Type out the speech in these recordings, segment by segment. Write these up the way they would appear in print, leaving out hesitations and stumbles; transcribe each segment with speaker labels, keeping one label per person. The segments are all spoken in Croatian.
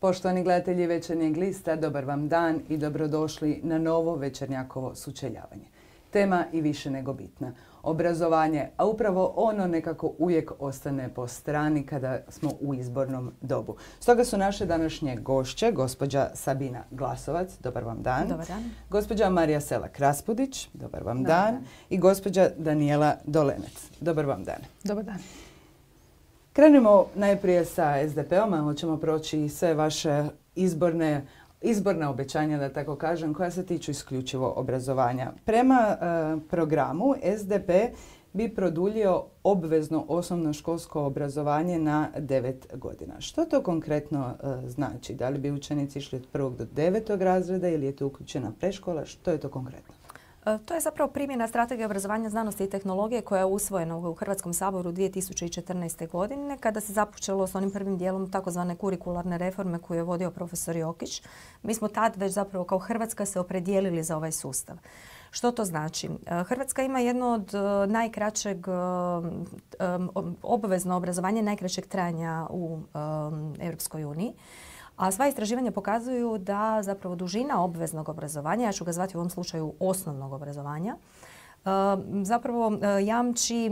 Speaker 1: Poštovani gledatelji Večernjeg lista, dobar vam dan i dobrodošli na novo Večernjakovo sučeljavanje. Tema i više nego bitna. Obrazovanje, a upravo ono nekako uvijek ostane po strani kada smo u izbornom dobu. Stoga su naše današnje gošće, gospođa Sabina Glasovac, dobar vam dan.
Speaker 2: Dobar dan.
Speaker 1: Gospođa Marija Selak-Raspudić, dobar vam dan. I gospođa Danijela Dolenec, dobar vam dan.
Speaker 2: Dobar dan.
Speaker 1: Krenemo najprije sa SDP-om, a hoćemo proći sve vaše izborna obećanja, da tako kažem, koja se tiču isključivo obrazovanja. Prema programu SDP bi produljio obvezno osnovnoškolsko obrazovanje na 9 godina. Što to konkretno znači? Da li bi učenici išli od 1. do 9. razreda ili je to uključena predškola? Što je to konkretno?
Speaker 2: To je zapravo primjena strategije obrazovanja, znanosti i tehnologije koja je usvojena u Hrvatskom saboru 2014. godine kada se započelo s onim prvim dijelom takozvane kurikularne reforme koju je vodio profesor Jokić. Mi smo tad već zapravo kao Hrvatska se opredijelili za ovaj sustav. Što to znači? Hrvatska ima jedno od najkraćeg obvezno obrazovanje najkraćeg trajanja u Europskoj uniji. A sva istraživanja pokazuju da zapravo dužina obveznog obrazovanja, ja ću ga zvati u ovom slučaju osnovnog obrazovanja, zapravo jamči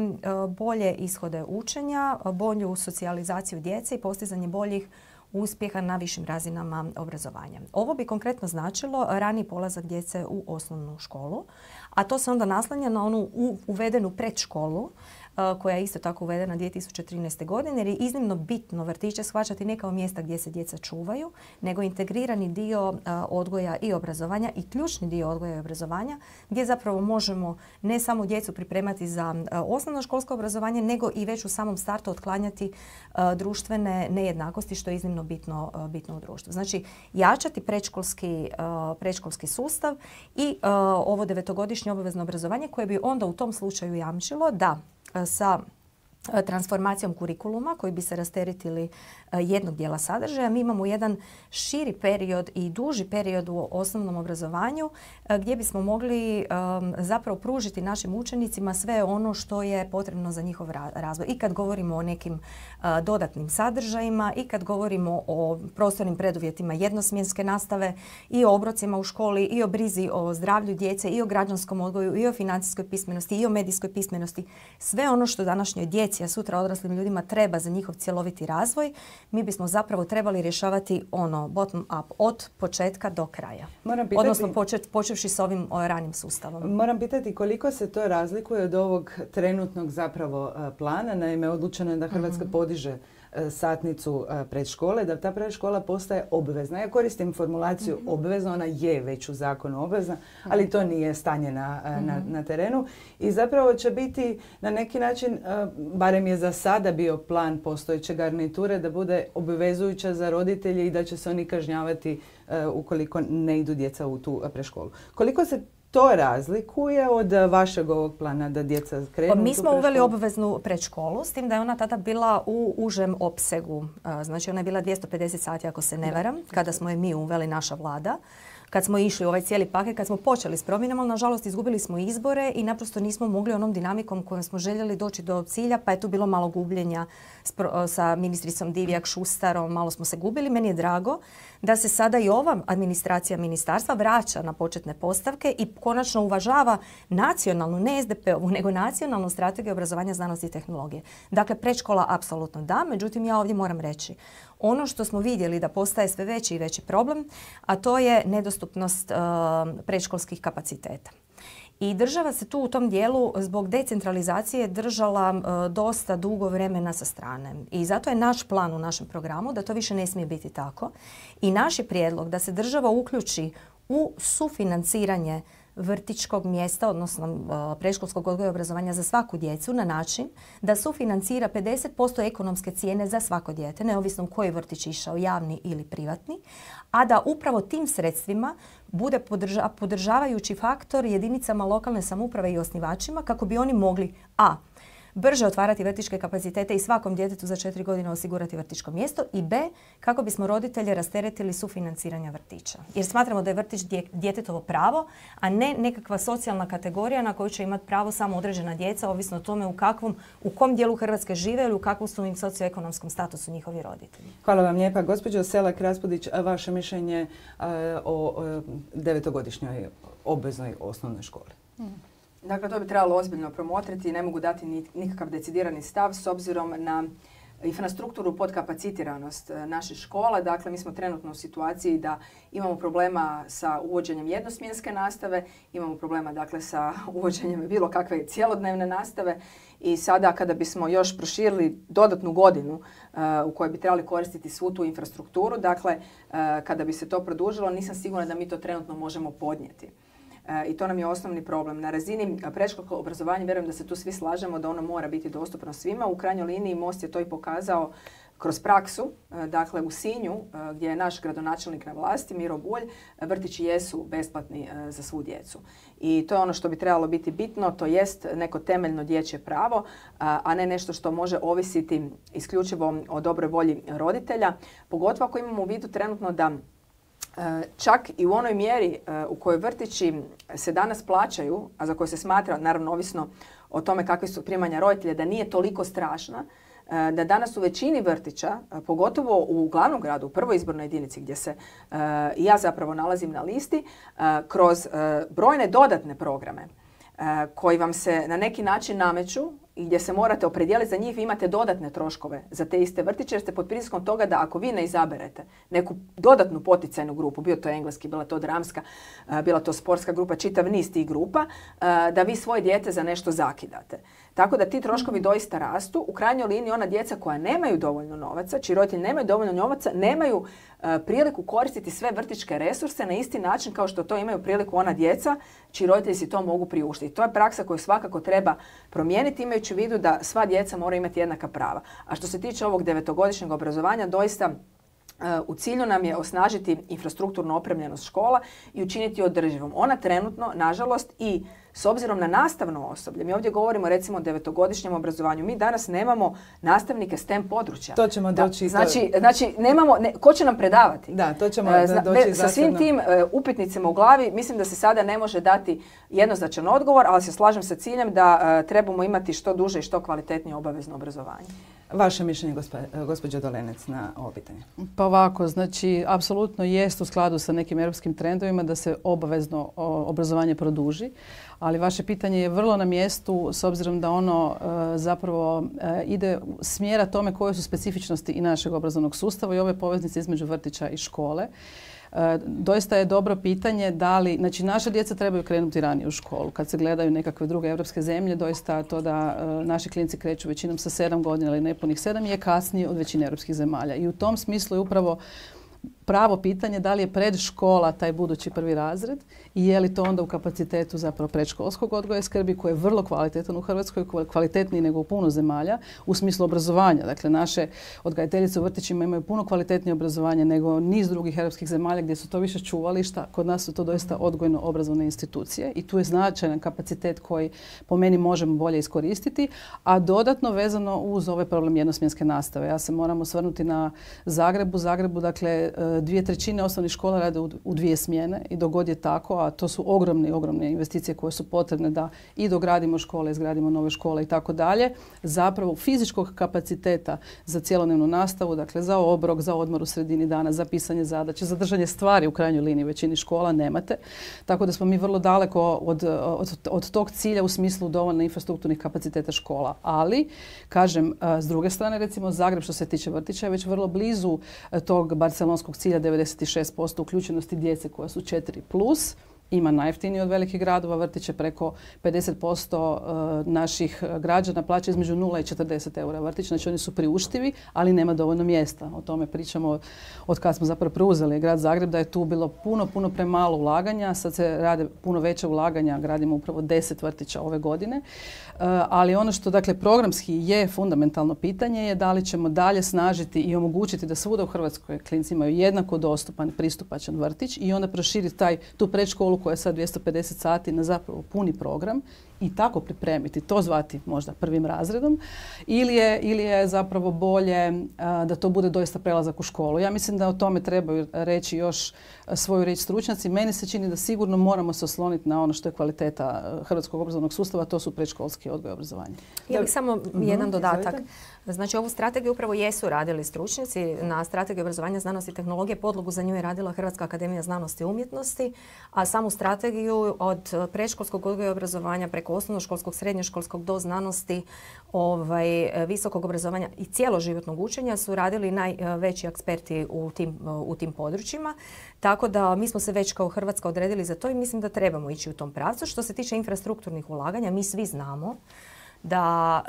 Speaker 2: bolje ishode učenja, bolju socijalizaciju djece i postizanje boljih uspjeha na višim razinama obrazovanja. Ovo bi konkretno značilo rani polazak djece u osnovnu školu, a to se onda naslanja na onu uvedenu predškolu koja je isto tako uvedena 2013. godine, jer je iznimno bitno vrtiće shvaćati ne kao mjesta gdje se djeca čuvaju, nego integrirani dio odgoja i obrazovanja i ključni dio odgoja i obrazovanja gdje zapravo možemo ne samo djecu pripremati za osnovnoškolsko obrazovanje, nego i već u samom startu otklanjati društvene nejednakosti, što je iznimno bitno u društvu. Znači, jačati predškolski sustav i ovo 9-godišnje obavezno obrazovanje koje bi onda u tom slučaju jamčilo da sa transformacijom kurikuluma koji bi se rasteretili jednog dijela sadržaja. Mi imamo jedan širi period i duži period u osnovnom obrazovanju gdje bismo mogli zapravo pružiti našim učenicima sve ono što je potrebno za njihov razvoj. I kad govorimo o nekim dodatnim sadržajima i kad govorimo o prostornim preduvjetima jednosmjenske nastave i o obrocima u školi i o brizi o zdravlju djece i o građanskom odgoju i o financijskoj pismenosti i o medijskoj pismenosti. Sve ono što današnjoj djeci, a sutra odraslim ljudima treba za njihov cjeloviti razvoj, mi bismo zapravo trebali rješavati ono bottom up od početka do kraja. Odnosno počevši s ovim ranim sustavom.
Speaker 1: Moram pitati koliko se to razlikuje od ovog trenutnog zapravo plana. Naime, odlučeno je da Hrvatska podiže satnicu predškole, da ta predškola postaje obvezna. Ja koristim formulaciju obvezna, ona je već u zakonu obvezna, ali to nije stanje na terenu. I zapravo će biti na neki način, barem je za sada bio plan postojeće garniture, da bude obvezujuća za roditelje i da će se oni kažnjavati ukoliko ne idu djeca u tu predškolu. Koliko se to razlikuje od vašeg ovog plana da djeca krenu?
Speaker 2: Mi smo uveli obveznu predškolu, s tim da je ona tada bila u užem opsegu. Znači ona je bila 250 sati ako se ne varam, kada smo je mi uveli, naša vlada. Kad smo išli u ovaj cijeli paket, kad smo počeli s promjenama, ali nažalost izgubili smo izbore i naprosto nismo mogli onom dinamikom kojom smo željeli doći do cilja, pa je tu bilo malo gubljenja sa ministricom Divjak, Šustarom, malo smo se gubili. Meni je drago da se sada i ova administracija ministarstva vraća na početne postavke i konačno uvažava nacionalnu, ne SDP-ovu, nego nacionalnu strategiju obrazovanja, znanosti i tehnologije. Dakle, predškola apsolutno da, međutim ja ovdje moram reći ono što smo vidjeli da postaje sve veći i veći problem, a to je nedostupnost predškolskih kapaciteta. I država se tu u tom dijelu zbog decentralizacije držala dosta dugo vremena sa strane. I zato je naš plan u našem programu da to više ne smije biti tako. I naš je prijedlog da se država uključi u sufinanciranje vrtićkog mjesta, odnosno predškolskog odgoja i obrazovanja za svaku djecu na način da sufinancira 50% ekonomske cijene za svako dijete, neovisno u koji vrtić išao, javni ili privatni, a da upravo tim sredstvima bude podržavajući faktor jedinicama lokalne samouprave i osnivačima kako bi oni mogli brže otvarati vrtićke kapacitete i svakom djetetu za 4 godine osigurati vrtićko mjesto i B, kako bismo roditelje rasteretili sufinanciranja vrtića. Jer smatramo da je vrtić djetetovo pravo, a ne nekakva socijalna kategorija na koju će imati pravo samo određena djeca, ovisno o tome u kom dijelu Hrvatske žive ili u kakvom su im socioekonomskom statusu njihovi roditelji.
Speaker 1: Hvala vam lijepa. Gospođo Selak-Raspudić, vaše mišljenje o 9-godišnjoj obveznoj osnovnoj školi?
Speaker 3: Dakle, to bi trebalo ozbiljno promotriti i ne mogu dati nikakav decidirani stav s obzirom na infrastrukturu podkapacitiranost naših škola. Dakle, mi smo trenutno u situaciji da imamo problema sa uvođenjem jednosmjenske nastave, imamo problema dakle sa uvođenjem bilo kakve cjelodnevne nastave i sada kada bismo još proširili dodatnu godinu u kojoj bi trebali koristiti svu tu infrastrukturu, dakle, kada bi se to produžilo, nisam sigurna da mi to trenutno možemo podnijeti. I to nam je osnovni problem. Na razini predškolskog obrazovanja vjerujem da se tu svi slažemo da ono mora biti dostupno svima. U krajnjoj liniji Most je to i pokazao kroz praksu. Dakle, u Sinju, gdje je naš gradonačelnik na vlasti, Miro Bulj, vrtići jesu besplatni za svu djecu. I to je ono što bi trebalo biti bitno, to jest neko temeljno dječje pravo, a ne nešto što može ovisiti isključivo o dobroj volji roditelja. Pogotovo ako imamo u vidu trenutno da čak i u onoj mjeri u kojoj vrtići se danas plaćaju, a za koje se smatra, naravno ovisno o tome kakvi su primanja roditelja, da nije toliko strašna, da danas u većini vrtića, pogotovo u glavnom gradu, u prvoj izbornoj jedinici gdje se ja zapravo nalazim na listi, kroz brojne dodatne programe koji vam se na neki način nameću i gdje se morate opredijeliti za njih, vi imate dodatne troškove za te iste vrtiće jer ste pod pritiskom toga da ako vi ne izaberete neku dodatnu poticajnu grupu, bio to engleski, bila to dramska, bila to sportska grupa, čitav niz tih grupa, da vi svoje dijete za nešto zakidate. Tako da ti troškovi doista rastu. U krajnjoj liniji ona djeca koja nemaju dovoljno novaca, čiji roditelji nemaju dovoljno novaca, nemaju priliku koristiti sve vrtićke resurse na isti način kao što to imaju priliku ona djeca čiji roditelji si to mogu priuštiti. To je praksa koju svakako treba promijeniti imajući u vidu da sva djeca moraju imati jednaka prava. A što se tiče ovog 9-godišnjeg obrazovanja, doista u cilju nam je osnažiti infrastrukturnu opremljenost škola i učiniti održivom. Ona trenutno, nažalost, i s obzirom na nastavno osoblje, mi ovdje govorimo recimo o 9-godišnjem obrazovanju, mi danas nemamo nastavnike STEM područja.
Speaker 1: To ćemo doći.
Speaker 3: Znači nemamo, ko će nam predavati?
Speaker 1: Da, to ćemo doći
Speaker 3: sa svim tim upitnicima u glavi, mislim da se sada ne može dati jednoznačan odgovor, ali se slažem sa ciljem da trebamo imati što duže i što kvalitetnije obavezno obrazovanje.
Speaker 1: Vaše mišljenje, gospođo Dolenec, na ovo pitanje?
Speaker 4: Pa ovako, znači, apsolutno jest u skladu sa nekim europskim trendovima da se obavezno obrazovanje produži, ali vaše pitanje je vrlo na mjestu s obzirom da ono zapravo ide smjera tome koje su specifičnosti i našeg obrazovnog sustava i ove poveznice između vrtića i škole. Doista je dobro pitanje da li, znači naša djeca trebaju krenuti ranije u školu. Kad se gledaju nekakve druge europske zemlje, doista to da naši klinci kreću većinom sa 7 godina ili nepunih 7 je kasnije od većine europskih zemalja. I u tom smislu je upravo pravo pitanje da li je predškola taj budući prvi razred i je li to onda u kapacitetu zapravo predškolskog odgoja i skrbi koji je vrlo kvalitetan u Hrvatskoj, kvalitetniji nego u puno zemalja u smislu obrazovanja. Dakle, naše odgajateljice u vrtićima imaju puno kvalitetnije obrazovanje nego niz drugih europskih zemalja gdje su to više čuvališta. Kod nas su to doista odgojno-obrazovne institucije i tu je značajan kapacitet koji po meni možemo bolje iskoristiti, a dodatno vezano uz ovaj problem jednosmjenske nastave. Ja se moram osvrnuti na Zagrebu, dakle, 2/3 osnovnih škola rade u 2 smjene i dok god je tako, a to su ogromne investicije koje su potrebne da i dogradimo škole, izgradimo nove škole i tako dalje, zapravo fizičkog kapaciteta za cjelodnevnu nastavu, dakle za obrok, za odmor u sredini dana, za pisanje zadaća, za držanje stvari u krajnjoj liniji većini škola nemate. Tako da smo mi vrlo daleko od tog cilja u smislu dovoljno infrastrukturnih kapaciteta škola. Ali, kažem, s druge strane, recimo Zagreb što se tiče vrtića je već vrlo blizu tog barcelonskog cilja 96% uključenosti djece koja su 4+. Ima najjeftiniji od velikih gradova vrtiće, preko 50% naših građana plaća između 0 i 40 eura vrtić, znači oni su priuštivi, ali nema dovoljno mjesta. O tome pričamo od kad smo zapravo preuzeli grad Zagreb, da je tu bilo puno premalo ulaganja, sad se rade puno veće ulaganja, gradimo upravo 10 vrtića ove godine. Ali ono što dakle programski je fundamentalno pitanje je da li ćemo dalje snažiti i omogućiti da svuda u Hrvatskoj klinci imaju jednako dostupan, pristupačan vrtić i onda proširiti tu predškolu koja je sad 250 sati na zapravo puni program i tako pripremiti, to zvati možda prvim razredom, ili je zapravo bolje da to bude doista prelazak u školu. Ja mislim da o tome trebaju reći još svoju riječ stručnjaci. Meni se čini da sigurno moramo se osloniti na ono što je kvaliteta hrvatskog obrazovnog sustava, to su predškolski odgoj i obrazovanje.
Speaker 2: Ja bih samo jedan dodatak. Znači, ovu strategiju upravo jesu radili stručnjaci. Na strategiju obrazovanja, znanosti i tehnologije podlogu za nju je radila Hrvatska akademija znanosti i umjetnosti, a samu strategiju od predškolskog odgoja i obrazovanja preko osnovnoškolskog, srednjoškolskog do znanosti, visokog obrazovanja i cjeloživotnog učenja su radili najveći eksperti u tim područjima. Tako da mi smo se već kao Hrvatska odredili za to i mislim da trebamo ići u tom pravcu. Što se tiče infrastrukturnih ulaganja, mi svi znamo da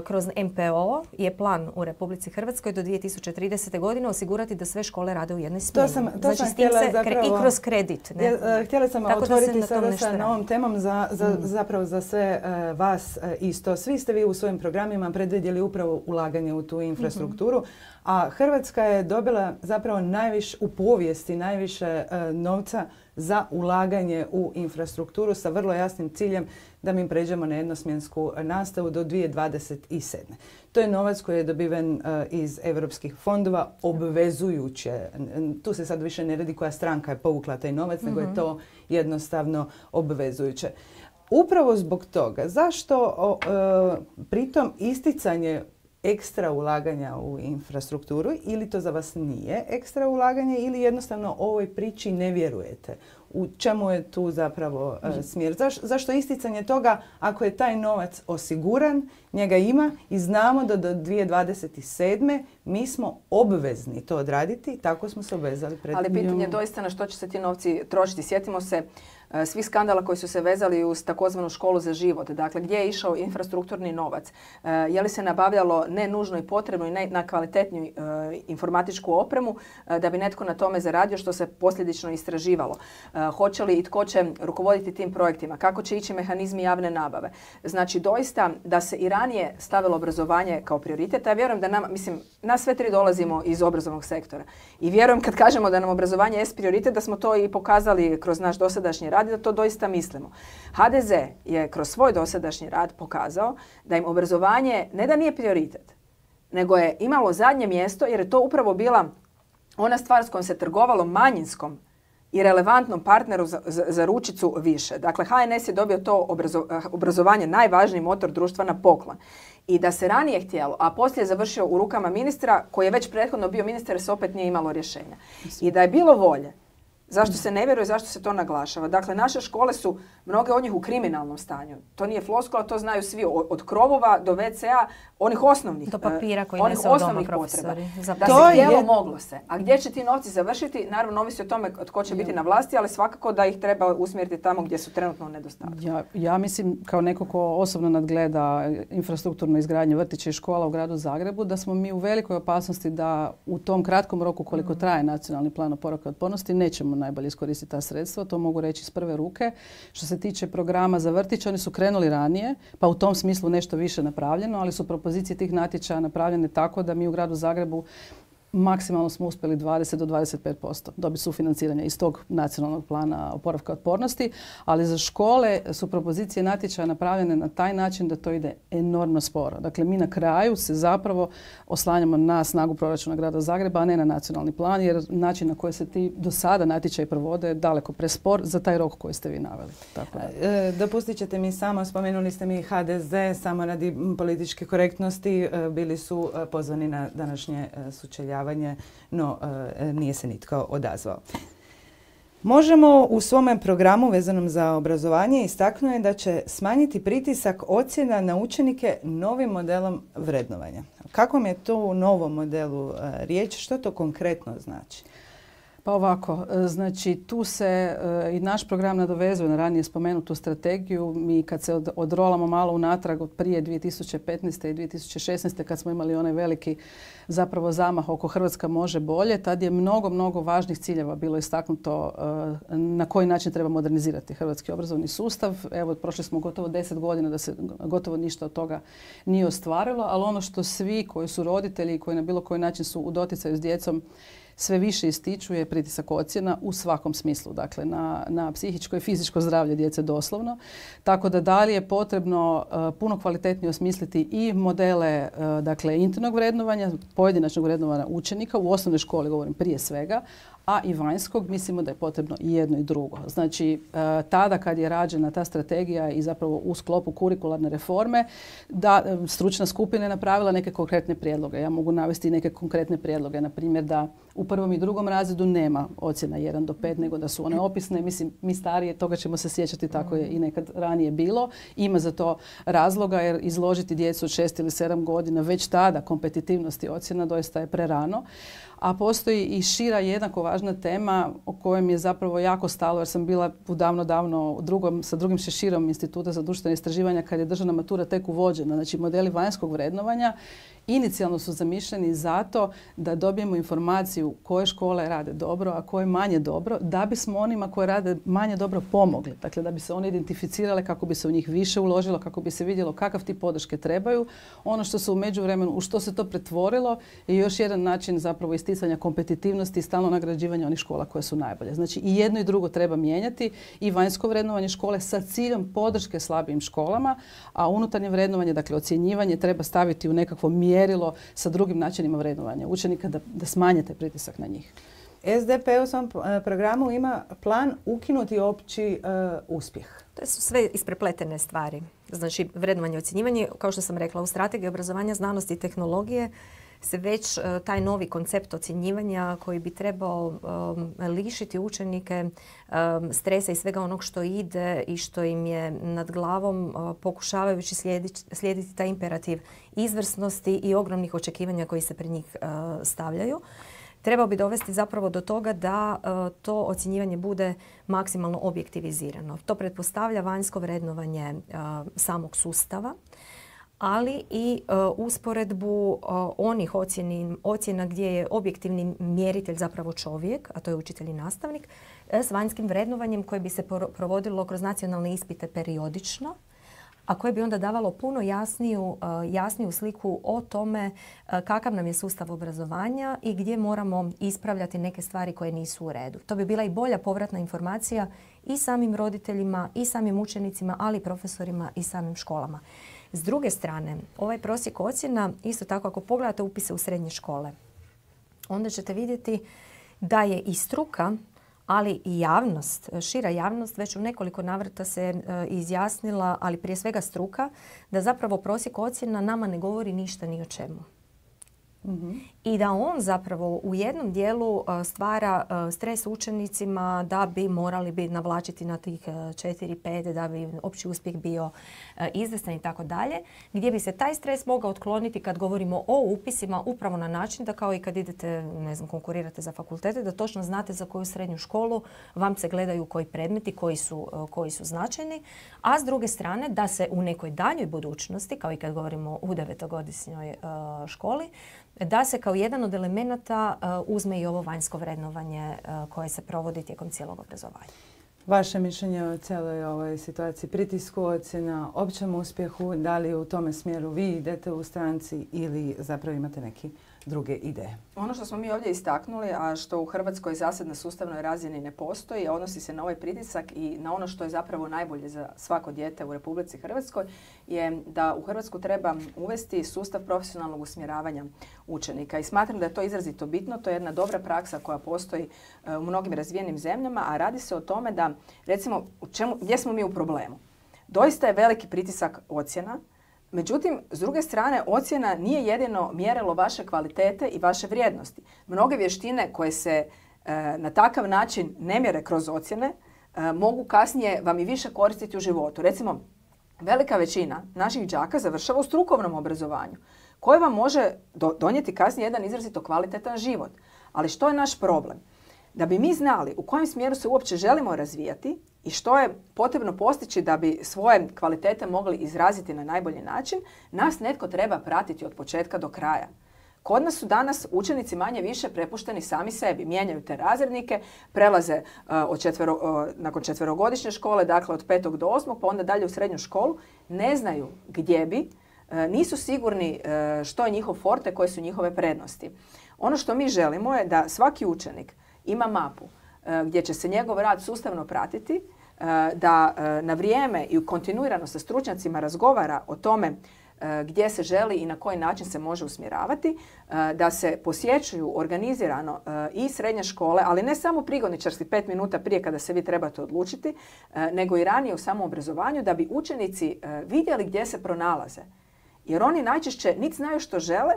Speaker 2: kroz MPO je plan u Republici Hrvatskoj do 2030. godine osigurati da sve škole rade u jednoj smjeni. Znači s tim se i kroz kredit.
Speaker 1: Htjela sam otvoriti sada sa novom temom zapravo za sve vas isto. Svi ste vi u svojim programima predvidjeli upravo ulaganje u tu infrastrukturu, a Hrvatska je dobila zapravo u povijesti najviše novca za ulaganje u infrastrukturu sa vrlo jasnim ciljem da mi pređemo na jednosmjensku nastavu do 2027. To je novac koji je dobiven iz europskih fondova obvezujuće. Tu se sad više ne radi koja stranka je povukla taj novac, nego je to jednostavno obvezujuće. Upravo zbog toga, zašto pritom isticanje ekstra ulaganja u infrastrukturu, ili to za vas nije ekstra ulaganje, ili jednostavno ovoj priči ne vjerujete? U čemu je tu zapravo smjer? Zašto isticanje toga ako je taj novac osiguran, njega ima i znamo da do 2027. mi smo obvezni to odraditi, tako smo se obvezali pred...
Speaker 3: Ali pitanje je doista na što će se ti novci trošiti. Sjetimo se svih skandala koji su se vezali uz takozvanu školu za život. Dakle, gdje je išao infrastrukturni novac? Je li se nabavljalo ne nužno i potrebno i na kvalitetniju informatičku opremu da bi netko na tome zaradio, što se posljedično istraživalo? Hoće li i tko će rukovoditi tim projektima? Kako će ići mehanizmi javne nabave? Znači, doista da se i ranije stavilo obrazovanje kao prioritet. Ja vjerujem da nas sve tri dolazimo iz obrazovnog sektora. I vjerujem kad kažemo da nam obrazovanje jest prioritet, da smo to i pokazali kroz naš dosadašnji rad i da to doista mislimo. HDZ je kroz svoj dosadašnji rad pokazao da im obrazovanje ne da nije prioritet, nego je imalo zadnje mjesto jer je to upravo bila ona stvar s kojom se trgovalo manjinskom i relevantnom partneru za ručicu više. Dakle, HNS je dobio to obrazovanje, najvažniji motor društva, na poklon. I da se ranije htjelo, a poslije je završio u rukama ministra, koji je već prethodno bio ministar, se opet nije imalo rješenja. I da je bilo volje, zašto se ne vjeruje, zašto se to naglašava? Dakle, naše škole su, mnoge od njih, u kriminalnom stanju. To nije floskula, to znaju svi, od krovova do WC-a, onih osnovnih,
Speaker 2: do papira koji
Speaker 3: onih osnovnih potreba. Da se htjelo, moglo se. A gdje će ti novci završiti? Naravno, ovisi o tome tko će biti na vlasti, ali svakako da ih treba usmjeriti tamo gdje su trenutno u nedostatku.
Speaker 4: Ja mislim, kao neko ko osobno nadgleda infrastrukturnu izgradnju vrtića i škola u gradu Zagrebu, da smo mi u velikoj opasnosti da u tom kratkom roku koliko traje nacionalni plan oporavka i otpornosti nećemo najbolje iskoristiti ta sredstva. To mogu reći iz prve ruke. Što se tiče programa za vrtić, oni su krenuli ranije, pa u tom smislu nešto više napravljeno, ali su propozicije tih natječaja napravljene tako da mi u gradu Zagrebu maksimalno smo uspjeli 20 do 25% dobiti sufinanciranja iz tog nacionalnog plana oporavka i otpornosti, ali za škole su propozicije natječaja napravljene na taj način da to ide enormno sporo. Dakle, mi na kraju se zapravo oslanjamo na snagu proračuna grada Zagreba, a ne na nacionalni plan, jer način na koji se ti do sada natječaji provode je daleko prespor za taj rok koji ste vi naveli. Tako da.
Speaker 1: Dopustit ćete mi samo, spomenuli ste mi HDZ, samo radi političke korektnosti, bili su pozvani na današnje sučeljavanje, no nije se nitko odazvao. Možemo u svome programu vezanom za obrazovanje istaknuti da će smanjiti pritisak ocjena na učenike novim modelom vrednovanja. Kakvom je to u novom modelu riječ? Što to konkretno znači?
Speaker 4: Pa ovako, znači tu se i naš program nadovezuje na ranije spomenutu strategiju. Mi kad se odrolamo malo unatrag od prije 2015. i 2016. kad smo imali onaj veliki zapravo zamah oko Hrvatska može bolje, tad je mnogo važnih ciljeva bilo istaknuto na koji način treba modernizirati hrvatski obrazovni sustav. Evo, prošli smo gotovo 10 godina da se gotovo ništa od toga nije ostvarilo, ali ono što svi koji su roditelji i koji na bilo koji način su u doticaju s djecom sve više ističu je pritisak ocjena u svakom smislu, dakle na psihičko i fizičko zdravlje djece doslovno. Tako da li je potrebno puno kvalitetnije osmisliti i modele dakle internog vrednovanja, pojedinačnog vrednovanja učenika, u osnovnoj školi govorim prije svega, a i vanjskog, mislimo da je potrebno i jedno i drugo. Znači, tada kad je rađena ta strategija i zapravo u sklopu kurikularne reforme, da stručna skupina je napravila neke konkretne prijedloge. Ja mogu navesti neke konkretne prijedloge, na primjer da u prvom i drugom razredu nema ocjena 1 do 5, nego da su one opisne. Mislim, mi starije, toga ćemo se sjećati, tako je i nekad ranije bilo. Ima za to razloga, jer izložiti djecu od 6 ili 7 godina već tada kompetitivnosti ocjena doista je prerano. A postoji i šira jednako važna tema o kojoj mi je zapravo jako stalo, jer sam bila davno sa drugim Šeširom Instituta za društvene istraživanja kad je državna matura tek uvođena. Znači, modeli vanjskog vrednovanja inicijalno su zamišljeni zato da dobijemo informaciju koje škole rade dobro, a koje manje dobro, da bismo onima koje rade manje dobro pomogli. Dakle, da bi se one identificirale, kako bi se u njih više uložilo, kako bi se vidjelo kakav tip podrške trebaju. Ono što se u međuvremenu, u što se to pretvorilo, je još jedan način zapravo isticanja kompetitivnosti i stalno nagrađivanja onih škola koje su najbolje. Znači, i jedno i drugo treba mijenjati, i vanjsko vrednovanje škole sa ciljem podrške slabijim školama, a unutarnje vrednovanje, dakle ocjenjivanje, treba staviti u nekakvo mjerilo sa drugim načinima vrednovanja učenika da smanje taj pritisak na njih.
Speaker 1: SDP u svom programu ima plan ukinuti opći uspjeh.
Speaker 2: To su sve isprepletene stvari. Znači, vrednovanje i ocjenjivanje, kao što sam rekla, u strategiji obrazovanja, znanosti i tehnologije se već taj novi koncept ocjenjivanja koji bi trebao lišiti učenike stresa i svega onog što ide i što im je nad glavom, pokušavajući slijediti taj imperativ izvrsnosti i ogromnih očekivanja koji se pred njih stavljaju. Trebao bi dovesti zapravo do toga da to ocjenjivanje bude maksimalno objektivizirano. To pretpostavlja vanjsko vrednovanje samog sustava, ali i usporedbu onih ocjena gdje je objektivni mjeritelj zapravo čovjek, a to je učitelj i nastavnik, s vanjskim vrednovanjem koje bi se provodilo kroz nacionalne ispite periodično, a koje bi onda davalo puno jasniju sliku o tome kakav nam je sustav obrazovanja i gdje moramo ispravljati neke stvari koje nisu u redu. To bi bila i bolja povratna informacija i samim roditeljima, i samim učenicima, ali i profesorima i samim školama. S druge strane, ovaj prosjek ocjena, isto tako ako pogledate upise u srednje škole, onda ćete vidjeti da je i struka, ali i javnost, šira javnost, već u nekoliko navrata se izjasnila, ali prije svega struka, da zapravo prosjek ocjena nama ne govori ništa ni o čemu. I da on zapravo u jednom dijelu stvara stres učenicima da bi morali biti navlačiti na tih 4-5, da bi opći uspjeh bio izvrstan i tako dalje, gdje bi se taj stres mogao otkloniti kad govorimo o upisima upravo na način da kao i kad idete, konkurirate za fakultete, da točno znate za koju srednju školu vam se gledaju koji predmeti, koji su značajni, a s druge strane da se u nekoj daljoj budućnosti, kao i kad govorimo u 9-godišnjoj školi, da se kao jedan od elemenata uzme i ovo vanjsko vrednovanje koje se provodi tijekom cijelog obrazovanja.
Speaker 1: Vaše mišljenje o cijeloj ovoj situaciji, pritisku ocjena, općem uspjehu, da li u tome smjeru vi idete u stranci ili zapravo imate neke druge ideje?
Speaker 3: Ono što smo mi ovdje istaknuli, a što u Hrvatskoj zasad na sustavnoj razini ne postoji, odnosi se na ovaj pritisak i na ono što je zapravo najbolje za svako dijete u Republici Hrvatskoj, je da u Hrvatsku treba uvesti sustav profesionalnog usmjeravanja učenika. I smatram da je to izrazito bitno. To je jedna dobra praksa koja postoji u mnogim razvijenim zemljama, a radi se o tome da, recimo, gdje smo mi u problemu? Doista je veliki pritisak ocjena. Međutim, s druge strane, ocjena nije jedino mjerilo vaše kvalitete i vaše vrijednosti. Mnoge vještine koje se na takav način ne mjere kroz ocjene mogu kasnije vam i više koristiti u životu. Recimo, velika većina naših đaka završava u strukovnom obrazovanju koje vam može donijeti kasnije jedan izrazito kvalitetan život. Ali što je naš problem? Da bi mi znali u kojem smjeru se uopće želimo razvijati i što je potrebno postići da bi svoje kvalitete mogli izraziti na najbolji način, nas netko treba pratiti od početka do kraja. Kod nas su danas učenici manje više prepušteni sami sebi. Mijenjaju te razrednike, prelaze nakon 4-godišnje škole, dakle od 5. do 8. pa onda dalje u srednju školu, ne znaju gdje bi, nisu sigurni što je njihov forte, koje su njihove prednosti. Ono što mi želimo je da svaki učenik ima mapu gdje će se njegov rad sustavno pratiti, da na vrijeme i kontinuirano sa stručnjacima razgovara o tome gdje se želi i na koji način se može usmjeravati, da se posjećuju organizirano i srednje škole, ali ne samo prigodničarski 5 minuta prije kada se vi trebate odlučiti, nego i ranije u samom obrazovanju, da bi učenici vidjeli gdje se pronalaze. Jer oni najčešće niti znaju što žele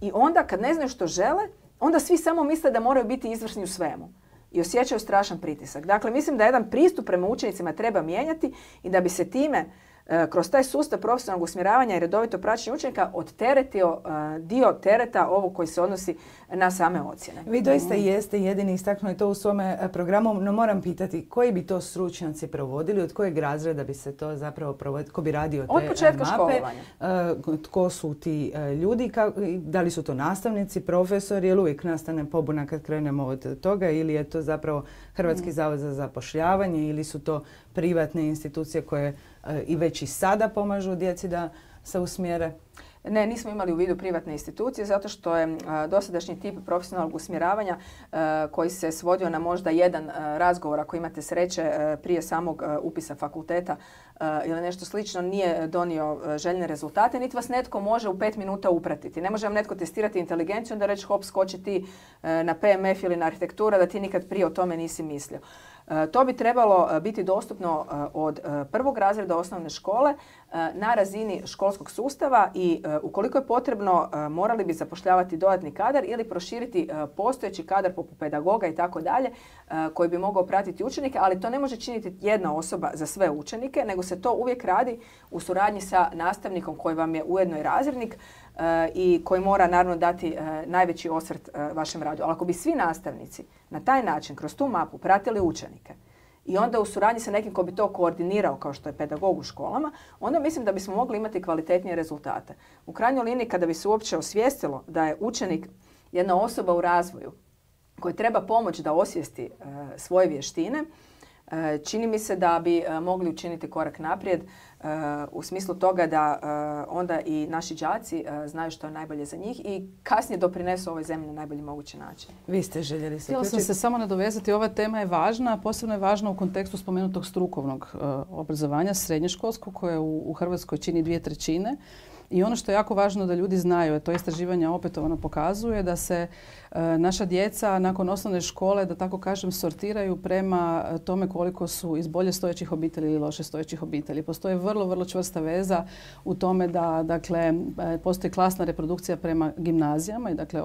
Speaker 3: i onda kad ne znaju što žele, onda svi samo misle da moraju biti izvrsni u svemu i osjećaju strašan pritisak. Dakle, mislim da jedan pristup prema učenicima treba mijenjati i da bi se time kroz taj sustav profesionalnog usmjeravanja i redovito praćenje učenika odteretio dio tereta ovog koji se odnosi na same ocjene.
Speaker 1: Vi doista jeste jedini istaknuli to u svome programu, no moram pitati koji bi to stručnjaci provodili, od kojeg razreda bi se to zapravo provodilo, ko bi radio te
Speaker 3: od početka
Speaker 1: mape,
Speaker 3: školovanja.
Speaker 1: Tko su ti ljudi, da li su to nastavnici, profesori, ili uvijek nastane pobuna kad krenemo od toga, ili je to zapravo Hrvatski zavod za zapošljavanje, ili su to privatne institucije koje i već i sada pomažu djeci da se usmjere?
Speaker 3: Ne, nismo imali u vidu privatne institucije zato što je dosadašnji tip profesionalnog usmjeravanja koji se svodio na možda jedan razgovor, ako imate sreće, prije samog upisa fakulteta ili nešto slično, nije donio željene rezultate, niti vas netko može u 5 minuta upratiti. Ne može vam netko testirati inteligenciju, onda reći hop, skoči ti na PMF ili na arhitektura, da ti nikad prije o tome nisi mislio. To bi trebalo biti dostupno od prvog razreda osnovne škole na razini školskog sustava i ukoliko je potrebno morali bi zapošljavati dodatni kadar ili proširiti postojeći kadar poput pedagoga i tako dalje koji bi mogao pratiti učenike, ali to ne može činiti jedna osoba za sve učenike, nego se to uvijek radi u suradnji sa nastavnikom koji vam je ujedno i razrednik i koji mora naravno dati najveći osvrt vašem radu. Ali ako bi svi nastavnici na taj način, kroz tu mapu, pratili učenike i onda u suradnji sa nekim ko bi to koordinirao kao što je pedagog u školama, onda mislim da bismo mogli imati kvalitetnije rezultate. U krajnjoj liniji kada bi se uopće osvijestilo da je učenik jedna osoba u razvoju koji treba pomoć da osvijesti svoje vještine, čini mi se da bi mogli učiniti korak naprijed u smislu toga da onda i naši đaci znaju što je najbolje za njih i kasnije doprinesu ovoj zemlji na najbolji mogući način.
Speaker 1: Vi ste željeli se
Speaker 4: Htjela sam se samo nadovezati, ova tema je važna, a posebno je važna u kontekstu spomenutog strukovnog obrazovanja, srednjoškolskog, koje u Hrvatskoj čini 2/3. I ono što je jako važno da ljudi znaju, a to istraživanje opetovano pokazuje, da se naša djeca nakon osnovne škole, da tako kažem, sortiraju prema tome koliko su iz bolje stojećih obitelji ili loše stojećih obitelji. Postoji vrlo, vrlo čvrsta veza u tome da, dakle, postoji klasna reprodukcija prema gimnazijama i dakle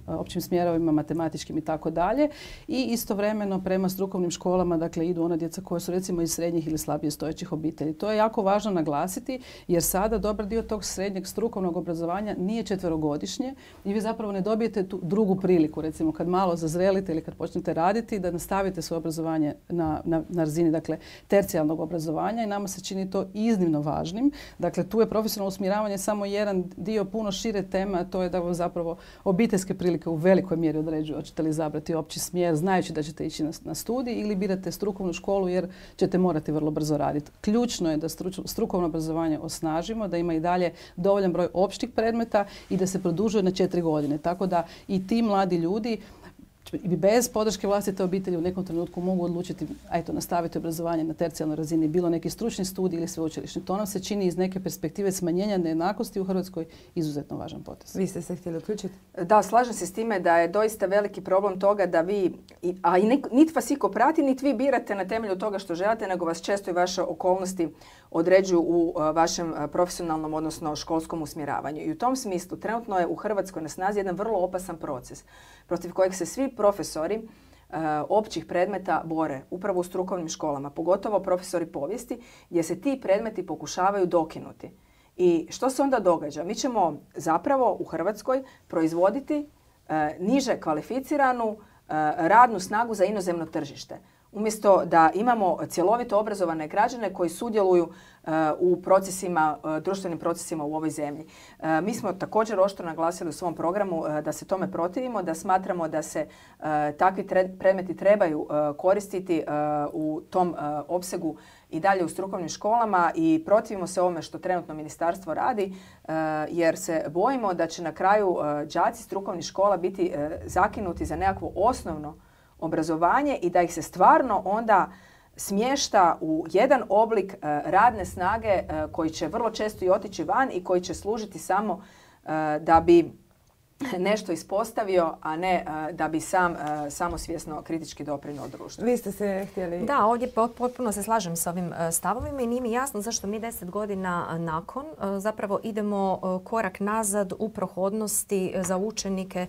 Speaker 4: općim smjerovima, matematičkim i tako dalje. I istovremeno prema strukovnim školama, dakle, idu ona djeca koja su recimo iz srednjih ili slabije stojećih obitelji. To je jako važno naglasiti jer sada dobar dio tog srednjeg strukovnog obrazovanja nije 4-godišnje i vi zapravo ne dobijete tu drugu priliku, recimo kad malo zazrelite ili kad počnete raditi, da nastavite svoje obrazovanje na razini, dakle, tercijalnog obrazovanja i nama se čini to iznimno važnim. Dakle, tu je profesionalno usmjeravanje samo jedan dio puno šire teme, a to je da zapravo obiteljske prilike u velikoj mjeri određuju hoćete li izabrati opći smjer, znajući da ćete ići na studij ili birate strukovnu školu jer ćete morati vrlo brzo raditi. Ključno je da strukovno obrazovanje osnažimo, da ima i dalje dovoljan broj općih predmeta i da se produžuje na 4 godine. Tako da i ti mladi ljudi bez podrške vlastite obitelji u nekom trenutku mogu odlučiti nastaviti obrazovanje na tercijalnoj razini, bilo neki stručni studij ili sveučilišni. To nam se čini iz neke perspektive smanjenja nejednakosti u Hrvatskoj izuzetno važan potez.
Speaker 1: Vi ste se htjeli uključiti?
Speaker 3: Da, slažem se s time da je doista veliki problem toga da vi, a i niti vas iko prati, niti vi birate na temelju toga što želite, nego vas često i vaše okolnosti određuju u vašem profesionalnom, odnosno školskom usmjeravanju. I u tom smislu trenutno je u Hrvatskoj na snazi jedan vrlo opasan proces protiv kojeg se svi profesori općih predmeta bore upravo u strukovnim školama, pogotovo profesori povijesti, gdje se ti predmeti pokušavaju dokinuti. I što se onda događa? Mi ćemo zapravo u Hrvatskoj proizvoditi niže kvalificiranu radnu snagu za inozemno tržište. umjesto da imamo cjelovito obrazovane građane koji sudjeluju u procesima, društvenim procesima u ovoj zemlji. Mi smo također oštro naglasili u svom programu da se tome protivimo, da smatramo da se takvi predmeti trebaju koristiti u tom opsegu i dalje u strukovnim školama i protivimo se ovome što trenutno ministarstvo radi, jer se bojimo da će na kraju đaci strukovnih škola biti zakinuti za nekakvo osnovno obrazovanje i da ih se stvarno onda smješta u jedan oblik radne snage koji će vrlo često i otići van i koji će služiti samo da bi nešto ispostavio, a ne da bi sam samosvjesno kritički doprinio društvu.
Speaker 1: Vi ste se htjeli...
Speaker 2: Da, ovdje potpuno se slažem s ovim stavovima i nije mi jasno zašto mi 10 godina nakon zapravo idemo korak nazad u prohodnosti za učenike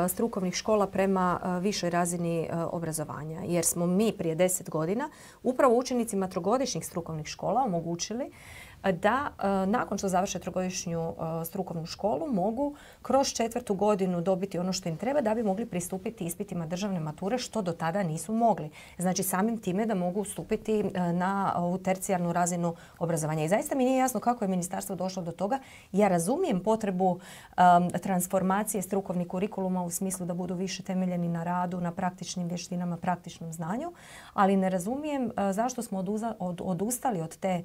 Speaker 2: strukovnih škola prema višoj razini obrazovanja. Jer smo mi prije 10 godina upravo učenicima trogodišnjih strukovnih škola omogućili da nakon što završe trogodišnju strukovnu školu mogu kroz 4. godinu dobiti ono što im treba da bi mogli pristupiti ispitima državne mature što do tada nisu mogli. Znači samim time da mogu stupiti na ovu tercijarnu razinu obrazovanja. I zaista mi nije jasno kako je ministarstvo došlo do toga. Ja razumijem potrebu transformacije strukovnih kurikuluma u smislu da budu više temeljeni na radu, na praktičnim vještinama, praktičnom znanju, ali ne razumijem zašto smo odustali od te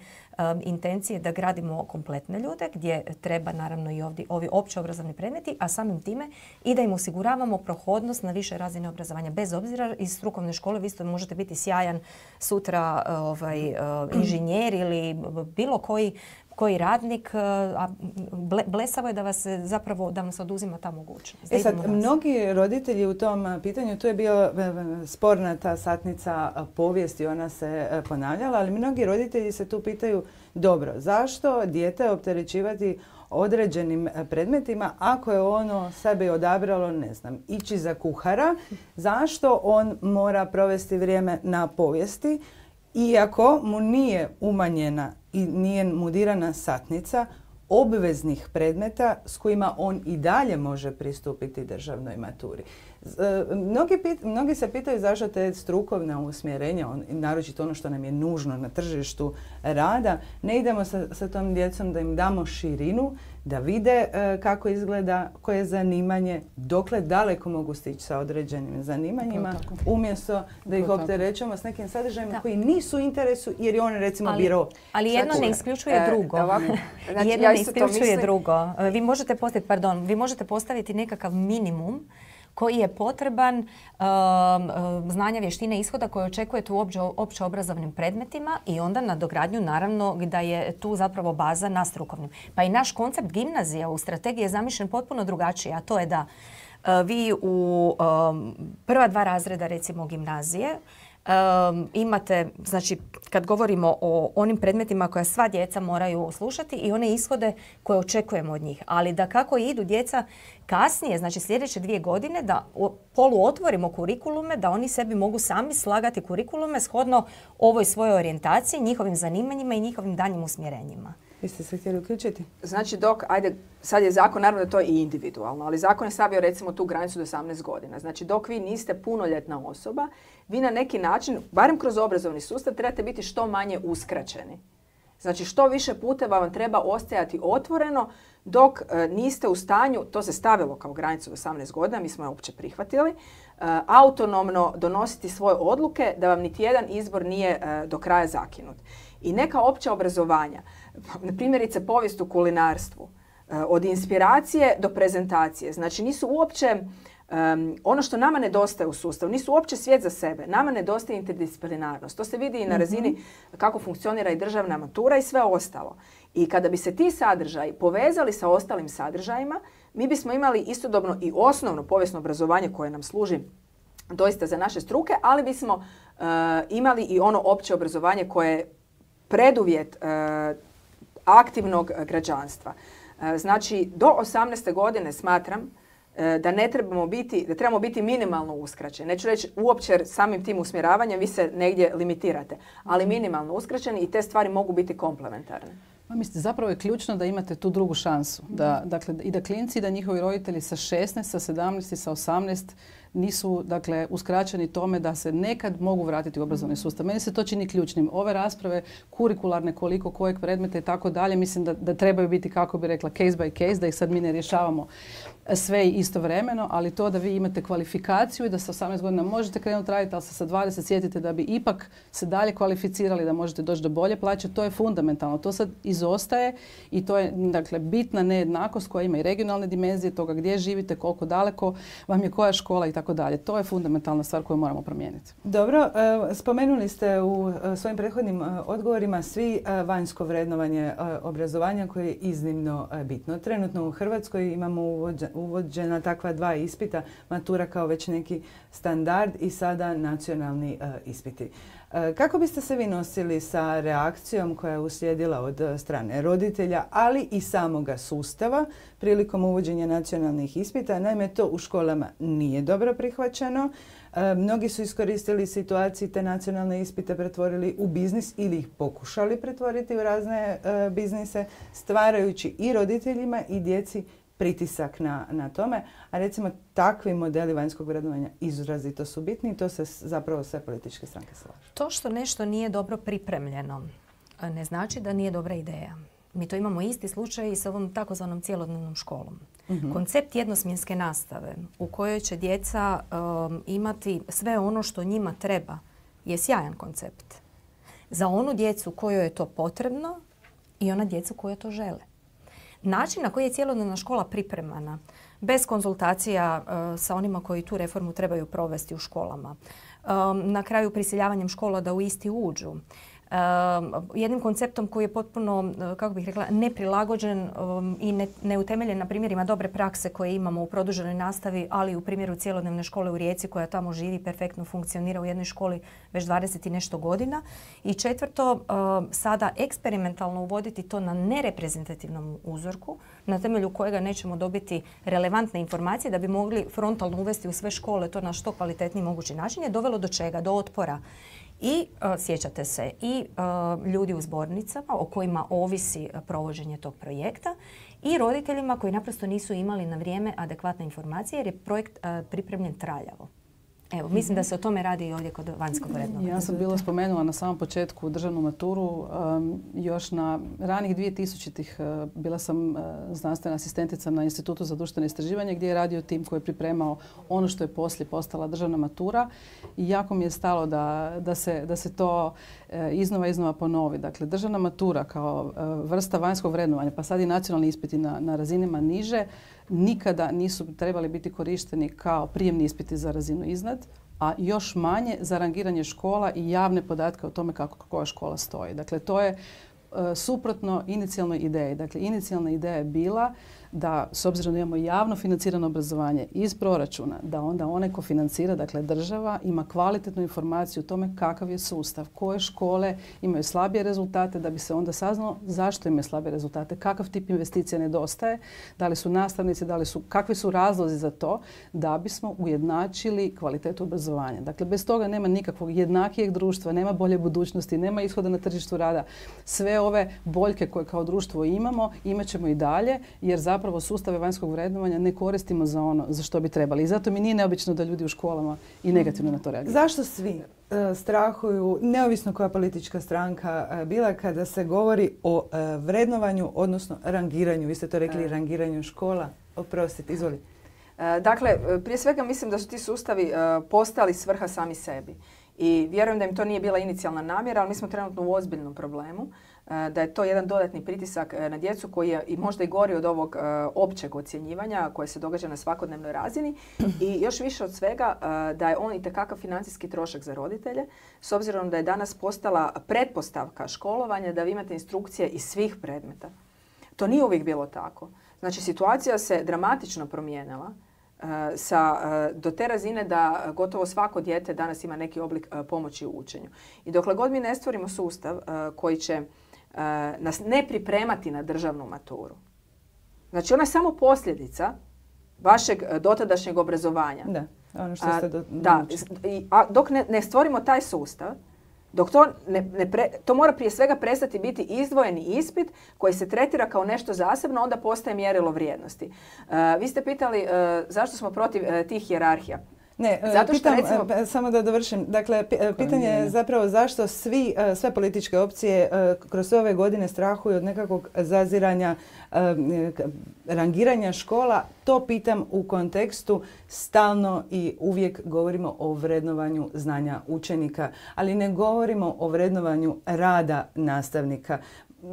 Speaker 2: intencije da gradimo kompletne ljude, gdje treba naravno i ovi opće obrazovni predmeti, a samim time i da im osiguravamo prohodnost na više razine obrazovanja. Bez obzira iz strukovne škole vi isto možete biti sjajan sutra inženjer ili bilo koji radnik, a blesavo je da vas zapravo da vam se oduzima ta mogućnost.
Speaker 1: Mnogi roditelji u tom pitanju, tu je bio sporna ta satnica povijesti, ona se ponavljala, ali mnogi roditelji se tu pitaju, dobro, zašto dijete opterećivati određenim predmetima ako je ono sebi odabralo, ne znam, ići za kuhara, zašto on mora provesti vrijeme na povijesti, iako mu nije umanjena i nije mu dirana satnica obveznih predmeta s kojima on i dalje može pristupiti državnoj maturi. Mnogi se pitaju zašto te strukovna usmjerenja, naročito ono što nam je nužno na tržištu rada, ne idemo sa tom djecom da im damo širinu, da vide kako izgleda, koje je zanimanje, dokle daleko mogu stići sa određenim zanimanjima, umjesto da ih opterećujemo s nekim sadržajima koji nisu u interesu jer je on recimo birao.
Speaker 2: Ali jedno ne isključuje drugo. Jedno ne isključuje drugo. Vi možete postaviti nekakav minimum koji je potreban znanja, vještine, ishoda koje očekujete u opće obrazovnim predmetima i onda nadogradnju naravno da je tu zapravo baza na strukovnim. Pa i naš koncept gimnazija u strategiji je zamišljen potpuno drugačije, a to je da vi u prva 2 razreda recimo gimnazije imate, znači kad govorimo o onim predmetima koje sva djeca moraju slušati i one ishode koje očekujemo od njih. Ali da kako idu djeca kasnije, znači sljedeće 2 godine, da poluotvorimo kurikulume, da oni sebi mogu sami slagati kurikulume shodno ovoj svojoj orijentaciji, njihovim zanimanjima i njihovim daljnjim usmjerenjima.
Speaker 1: Vi ste se htjeli uključiti?
Speaker 3: Znači sad je zakon, naravno da to je i individualno, ali zakon je stavio recimo tu granicu do 18 godina. Znači dok vi niste punoljetna osoba, vi na neki način, barem kroz obrazovni sustav, trebate biti što manje uskraćeni. Znači što više puteva vam treba ostajati otvoreno dok niste u stanju, to se stavilo kao granicu do 18 godina, mi smo je uopće prihvatili, autonomno donositi svoje odluke da vam niti jedan izbor nije do kraja zakinut. I neka opća obrazovanja, primjerice povijest u kulinarstvu, od inspiracije do prezentacije, znači nisu uopće ono što nama nedostaje u sustavu, nisu uopće svijet za sebe. Nama nedostaje interdisciplinarnost. To se vidi i na razini kako funkcionira i državna matura i sve ostalo. I kada bi se ti sadržaji povezali sa ostalim sadržajima, mi bismo imali istodobno i osnovno povijesno obrazovanje koje nam služi doista za naše struke, ali bismo imali i ono opće obrazovanje koje je preduvjet aktivnog građanstva. Znači, do 18. godine smatram da trebamo biti minimalno uskraćeni. Neću reći uopće jer samim tim usmjeravanjem vi se negdje limitirate, ali minimalno uskraćeni i te stvari mogu biti komplementarne.
Speaker 4: Mislite, zapravo je ključno da imate tu drugu šansu. Dakle, i da klinci i da njihovi roditelji sa 16, sa 17 i sa 18 nisu dakle, uskraćeni tome da se nekad mogu vratiti u obrazovni sustav. Meni se to čini ključnim. Ove rasprave kurikularne, koliko kojeg predmeta i tako dalje, mislim da trebaju biti, kako bi rekla, case by case, da ih sad mi ne rješavamo sve istovremeno, ali to da vi imate kvalifikaciju i da sa 18 godina možete krenuti raditi, ali se sa 20 sjetite da bi ipak se dalje kvalificirali, da možete doći do bolje plaće, to je fundamentalno. To sad izostaje i to je dakle, bitna nejednakost koja ima i regionalne dimenzije toga gdje živite, koliko daleko vam je koja škola i tako dalje. To je fundamentalna stvar koju moramo promijeniti.
Speaker 1: Dobro, spomenuli ste u svojim prethodnim odgovorima svi vanjsko vrednovanje obrazovanja koje je iznimno bitno. Trenutno u Hrvatskoj imamo uvođena takva 2 ispita, matura kao već neki standard i sada nacionalni ispiti. Kako biste se vi nosili sa reakcijom koja je uslijedila od strane roditelja, ali i samoga sustava prilikom uvođenja nacionalnih ispita? Naime, to u školama nije dobro prihvaćeno. Mnogi su iskoristili situaciju, te nacionalne ispite pretvorili u biznis ili ih pokušali pretvoriti u razne biznise, stvarajući i roditeljima i djeci pritisak na tome. A recimo takvi modeli vanjskog vrednovanja izrazito su bitni i to se zapravo sve političke stranke slažu.
Speaker 2: To što nešto nije dobro pripremljeno ne znači da nije dobra ideja. Mi to imamo isti slučaj i s ovom takozvanom cjelodnevnom školom. Koncept jednosmjenske nastave u kojoj će djeca imati sve ono što njima treba je sjajan koncept. Za onu djecu kojoj je to potrebno i ona djecu koja to žele. Način na koji je cjelodnevna škola pripremana, bez konzultacija sa onima koji tu reformu trebaju provesti u školama, na kraju prisiljavanjem škola da u isti uđu, jednim konceptom koji je potpuno, kako bih rekla, neprilagođen i neutemeljen na primjerima dobre prakse koje imamo u produženoj nastavi, ali i u primjeru cjelodnevne škole u Rijeci koja tamo živi, perfektno funkcionira u jednoj školi već 20 i nešto godina. I četvrto, sada eksperimentalno uvoditi to na nereprezentativnom uzorku, na temelju kojega nećemo dobiti relevantne informacije da bi mogli frontalno uvesti u sve škole to na što kvalitetniji mogući način, je dovelo do čega? Do otpora. I sjećate se i ljudi u zbornicama o kojima ovisi provođenje tog projekta i roditeljima koji naprosto nisu imali na vrijeme adekvatne informacije jer je projekt pripremljen traljavo. Evo, mislim da se o tome radi i ovdje kod vanjskog vrednovanja.
Speaker 4: Ja sam bila spomenula na samom početku državnu maturu. Još na ranih 2000-ih bila sam znanstvena asistentica na Institutu za društveno istraživanje gdje je radio tim koji je pripremao ono što je poslije postala državna matura. I jako mi je stalo da se to iznova ponovi. Dakle, državna matura kao vrsta vanjskog vrednovanja, pa sad i nacionalni ispiti na razinama niže, nikada nisu trebali biti korišteni kao prijemni ispiti za razinu iznad, a još manje za rangiranje škola i javne podatke o tome kako koja škola stoji. Dakle, to je suprotno inicijalnoj ideji. Dakle, inicijalna ideja je bila da, s obzirom da imamo javno financirano obrazovanje iz proračuna, da onda onaj ko financira, dakle država, ima kvalitetnu informaciju o tome kakav je sustav, koje škole imaju slabije rezultate, da bi se onda saznalo zašto imaju slabije rezultate, kakav tip investicija nedostaje, da li su nastavnici, kakvi su razlozi za to, da bismo ujednačili kvalitetu obrazovanja. Dakle, bez toga nema nikakvog jednakijeg društva, nema bolje budućnosti, nema ishoda na tržištu rada. Sve ove boljke koje kao društvo imamo, imat ćemo i dalje, jer zapravo sustave vanjskog vrednovanja ne koristimo za ono za što bi trebali. I zato mi nije neobično da ljudi u školama i negativno na to reagiraju.
Speaker 1: Zašto svi strahuju, neovisno koja politička stranka bila, kada se govori o vrednovanju, odnosno rangiranju? Vi ste to rekli, rangiranju škola. Oprostite, izvoli.
Speaker 3: Dakle, prije svega mislim da su ti sustavi postali svrha sami sebi. I vjerujem da im to nije bila inicijalna namjera, ali mi smo trenutno u ozbiljnom problemu. Da je to jedan dodatni pritisak na djecu koji je i možda i gori od ovog općeg ocjenjivanja koje se događa na svakodnevnoj razini i još više od svega da je on itekakav financijski trošak za roditelje s obzirom da je danas postala pretpostavka školovanja da vi imate instrukcije iz svih predmeta. To nije uvijek bilo tako. Znači, situacija se dramatično promijenila do te razine da gotovo svako dijete danas ima neki oblik pomoći u učenju. I dokle god mi ne stvorimo sustav koji će nas ne pripremati na državnu maturu. Znači, ona je samo posljedica vašeg dotadašnjeg obrazovanja.
Speaker 1: Da, ono što ste
Speaker 3: dok ne stvorimo taj sustav, dok to mora prije svega prestati biti izdvojeni ispit koji se tretira kao nešto zasebno, onda postaje mjerilo vrijednosti. Vi ste pitali zašto smo protiv tih hijerarhija.
Speaker 1: Ne,
Speaker 3: zato što
Speaker 1: pitam, samo da dovršim. Dakle, pitanje je zapravo zašto sve političke opcije kroz sve ove godine strahuju od nekakvog zaziranja, rangiranja škola. To pitam u kontekstu stalno i uvijek govorimo o vrednovanju znanja učenika, ali ne govorimo o vrednovanju rada nastavnika.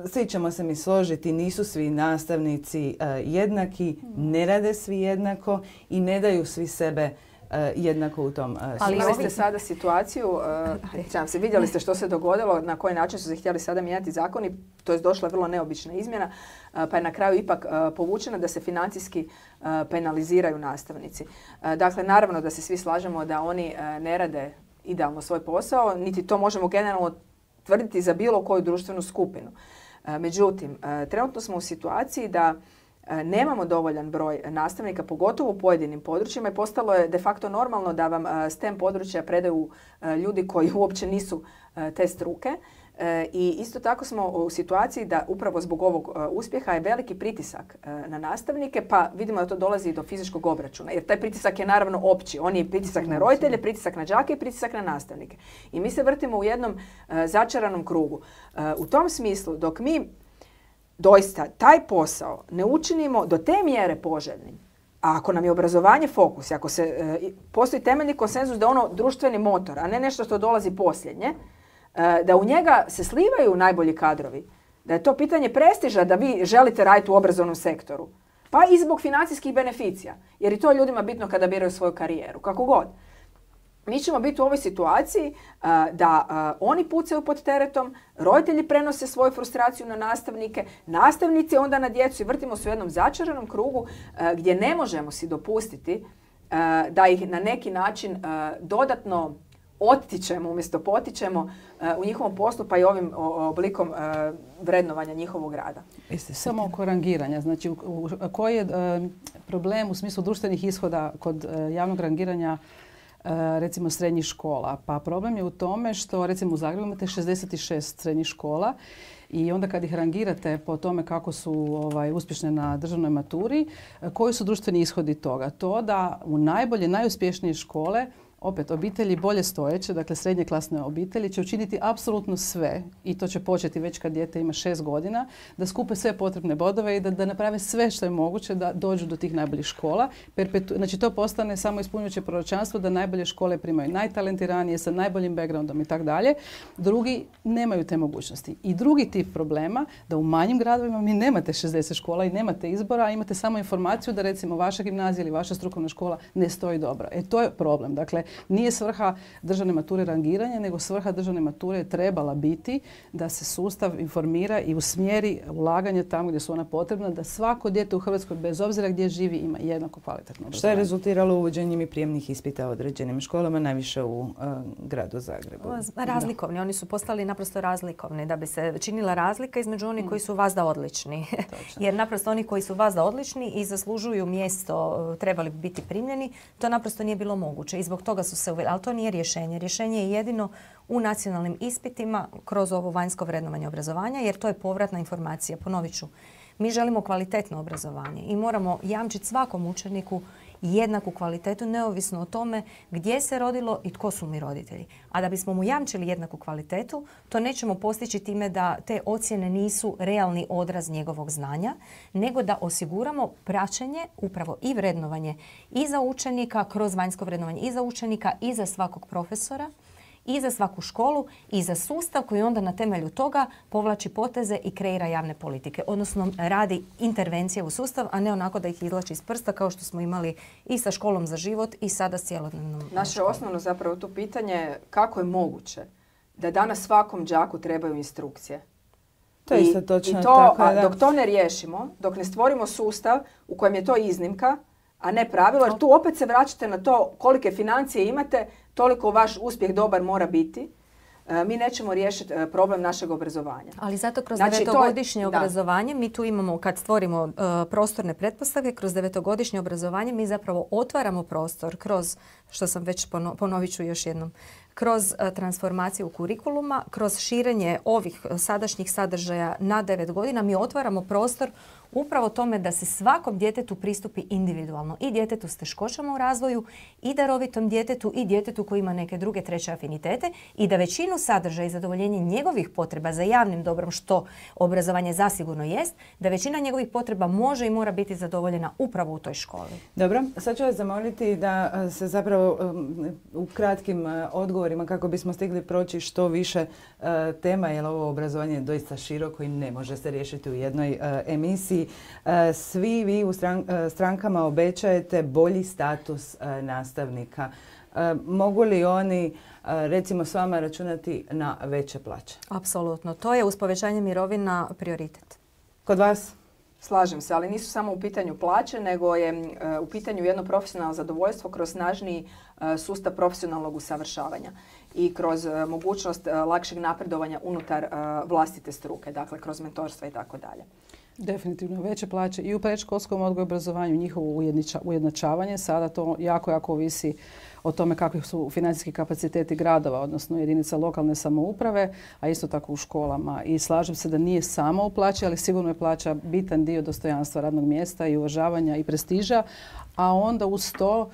Speaker 1: Svi ćemo se mi složiti, nisu svi nastavnici jednaki, ne rade svi jednako i ne daju svi sebe jednako u tom smislu.
Speaker 3: Ali imali ste sada situaciju, vidjeli ste što se dogodilo, na koji način su se htjeli sada mijenjati zakoni, to je došla vrlo neobična izmjena, pa je na kraju ipak povučena da se financijski penaliziraju nastavnici. Dakle, naravno da se svi slažemo da oni ne rade idealno svoj posao, niti to možemo generalno tvrditi za bilo koju društvenu skupinu. Međutim, trenutno smo u situaciji da nemamo dovoljan broj nastavnika, pogotovo u pojedinim područjima i postalo je de facto normalno da vam STEM područja predaju ljudi koji uopće nisu te struke. I isto tako smo u situaciji da upravo zbog ovog uspjeha je veliki pritisak na nastavnike, pa vidimo da to dolazi i do fizičkog obračuna. Jer taj pritisak je naravno opći. On je pritisak na roditelje, pritisak na đake i pritisak na nastavnike. I mi se vrtimo u jednom začaranom krugu. U tom smislu, dok mi doista taj posao ne učinimo do te mjere poželjnim, a ako nam je obrazovanje fokus, ako postoji temeljni konsenzus da je ono društveni motor, a ne nešto što dolazi posljednje, da u njega se slivaju najbolji kadrovi, da je to pitanje prestiža da vi želite raditi u obrazovnom sektoru, pa i zbog financijskih beneficija, jer i to je ljudima bitno kada biraju svoju karijeru, kako god. Mi ćemo biti u ovoj situaciji da oni pucaju pod teretom, roditelji prenose svoju frustraciju na nastavnike, nastavnici onda na djecu i vrtimo se u jednom začaranom krugu gdje ne možemo si dopustiti da ih na neki način dodatno ottičemo umjesto potičemo u njihovom poslu pa i ovim oblikom vrednovanja njihovog rada.
Speaker 4: Samo oko rangiranja. Znači, koji je problem u smislu društvenih ishoda kod javnog rangiranja recimo srednjih škola? Pa problem je u tome što recimo u Zagrebu imate 66 srednjih škola i onda kad ih rangirate po tome kako su uspješne na državnoj maturi, koji su društveni ishodi toga? To da u najuspješnije škole opet, obitelji bolje stojeće, dakle srednje klasne obitelji će učiniti apsolutno sve i to će početi već kad dijete ima 6 godina, da skupe sve potrebne bodove i da naprave sve što je moguće da dođu do tih najboljih škola. Znači to postane samo ispunjujuće proročanstvo da najbolje škole primaju najtalentiranije sa najboljim backgroundom i tako dalje. Drugi nemaju te mogućnosti. I drugi tip problema da u manjim gradovima mi nemate 60 škola i nemate izbora, a imate samo informaciju da recimo vaša gimnazija ili vaša strukovna škola ne stoji dobro. To je problem. Dakle, nije svrha državne mature rangiranje, nego svrha državne mature je trebala biti da se sustav informira i usmjeri ulaganje tamo gdje su ona potrebna, da svako dijete u Hrvatskoj, bez obzira gdje živi, ima jednako kvalitetno obrazovanje.
Speaker 1: Što je rezultiralo uvođenjem i prijemnih ispita u određenim školama, najviše u gradu Zagrebu?
Speaker 2: Razlikovni. Oni su postali naprosto razlikovni da bi se činila razlika između onih koji su vazda odlični. Jer naprosto oni koji su vazda odlični i zaslužuju mjesto, trebali bi biti primljeni, to naprosto nije bilo moguće i zbog toga su se uveli. Ali to nije rješenje. Rješenje je jedino u nacionalnim ispitima kroz ovo vanjsko vrednovanje obrazovanja, jer to je povratna informacija. Ponovit ću, mi želimo kvalitetno obrazovanje i moramo jamčiti svakom učeniku jednaku kvalitetu, neovisno o tome gdje se rodilo i tko su mi roditelji. A da bismo mu jamčili jednaku kvalitetu, to nećemo postići time da te ocjene nisu realni odraz njegovog znanja, nego da osiguramo praćenje, upravo i vrednovanje i za učenika, kroz vanjsko vrednovanje i za učenika i za svakog profesora, i za svaku školu i za sustav koji onda na temelju toga povlači poteze i kreira javne politike. Odnosno radi intervencije u sustav, a ne onako da ih izvlači iz prsta kao što smo imali i sa školom za život i sada s cjelodnevnom školom.
Speaker 3: Naše osnovno zapravo to pitanje kako je moguće da danas svakom đaku trebaju instrukcije.
Speaker 1: To je isto točno.
Speaker 3: Dok to ne riješimo, dok ne stvorimo sustav u kojem je to iznimka, a ne pravilo, jer tu opet se vraćate na to kolike financije imate, toliko vaš uspjeh dobar mora biti. Mi nećemo riješiti problem našeg obrazovanja.
Speaker 2: Ali zato kroz devetogodišnje obrazovanje mi tu imamo, kad stvorimo prostorne pretpostavke, kroz devetogodišnje obrazovanje mi zapravo otvaramo prostor kroz, što sam već ponovit ću još jednom, kroz transformaciju kurikuluma, kroz širenje ovih sadašnjih sadržaja na 9 godina mi otvaramo prostor upravo tome da se svakom djetetu pristupi individualno. I djetetu s teškoćama u razvoju, i darovitom djetetu, i djetetu koji ima neke druge, treće afinitete i da većinu sadržaja i zadovoljenje njegovih potreba za javnim dobrom, što obrazovanje zasigurno jest, da većina njegovih potreba može i mora biti zadovoljena upravo u toj školi.
Speaker 1: Dobro, sad ću vas zamoliti da se zapravo u kratkim odgovorima, kako bismo stigli proći što više tema, jer ovo obrazovanje je doista široko i ne može se riješiti u jednoj emisiji. Svi vi u strankama obećajete bolji status nastavnika. Mogu li oni recimo s vama računati na veće plaće?
Speaker 2: Apsolutno. To je uz povećanje mirovina prioritet.
Speaker 1: Kod vas?
Speaker 3: Slažem se, ali nisu samo u pitanju plaće, nego je u pitanju jedno profesionalno zadovoljstvo kroz snažniji sustav profesionalnog usavršavanja i kroz mogućnost lakšeg napredovanja unutar vlastite struke, dakle kroz mentorstva i tako dalje.
Speaker 4: Definitivno veće plaće i u predškolskom odgoju i obrazovanju, njihovo ujednačavanje. Sada to jako ovisi o tome kakvi su financijski kapaciteti gradova, odnosno jedinica lokalne samouprave, a isto tako u školama. I slažem se da nije samo u plaći, ali sigurno je plaća bitan dio dostojanstva radnog mjesta i uvažavanja i prestiža, a onda uz to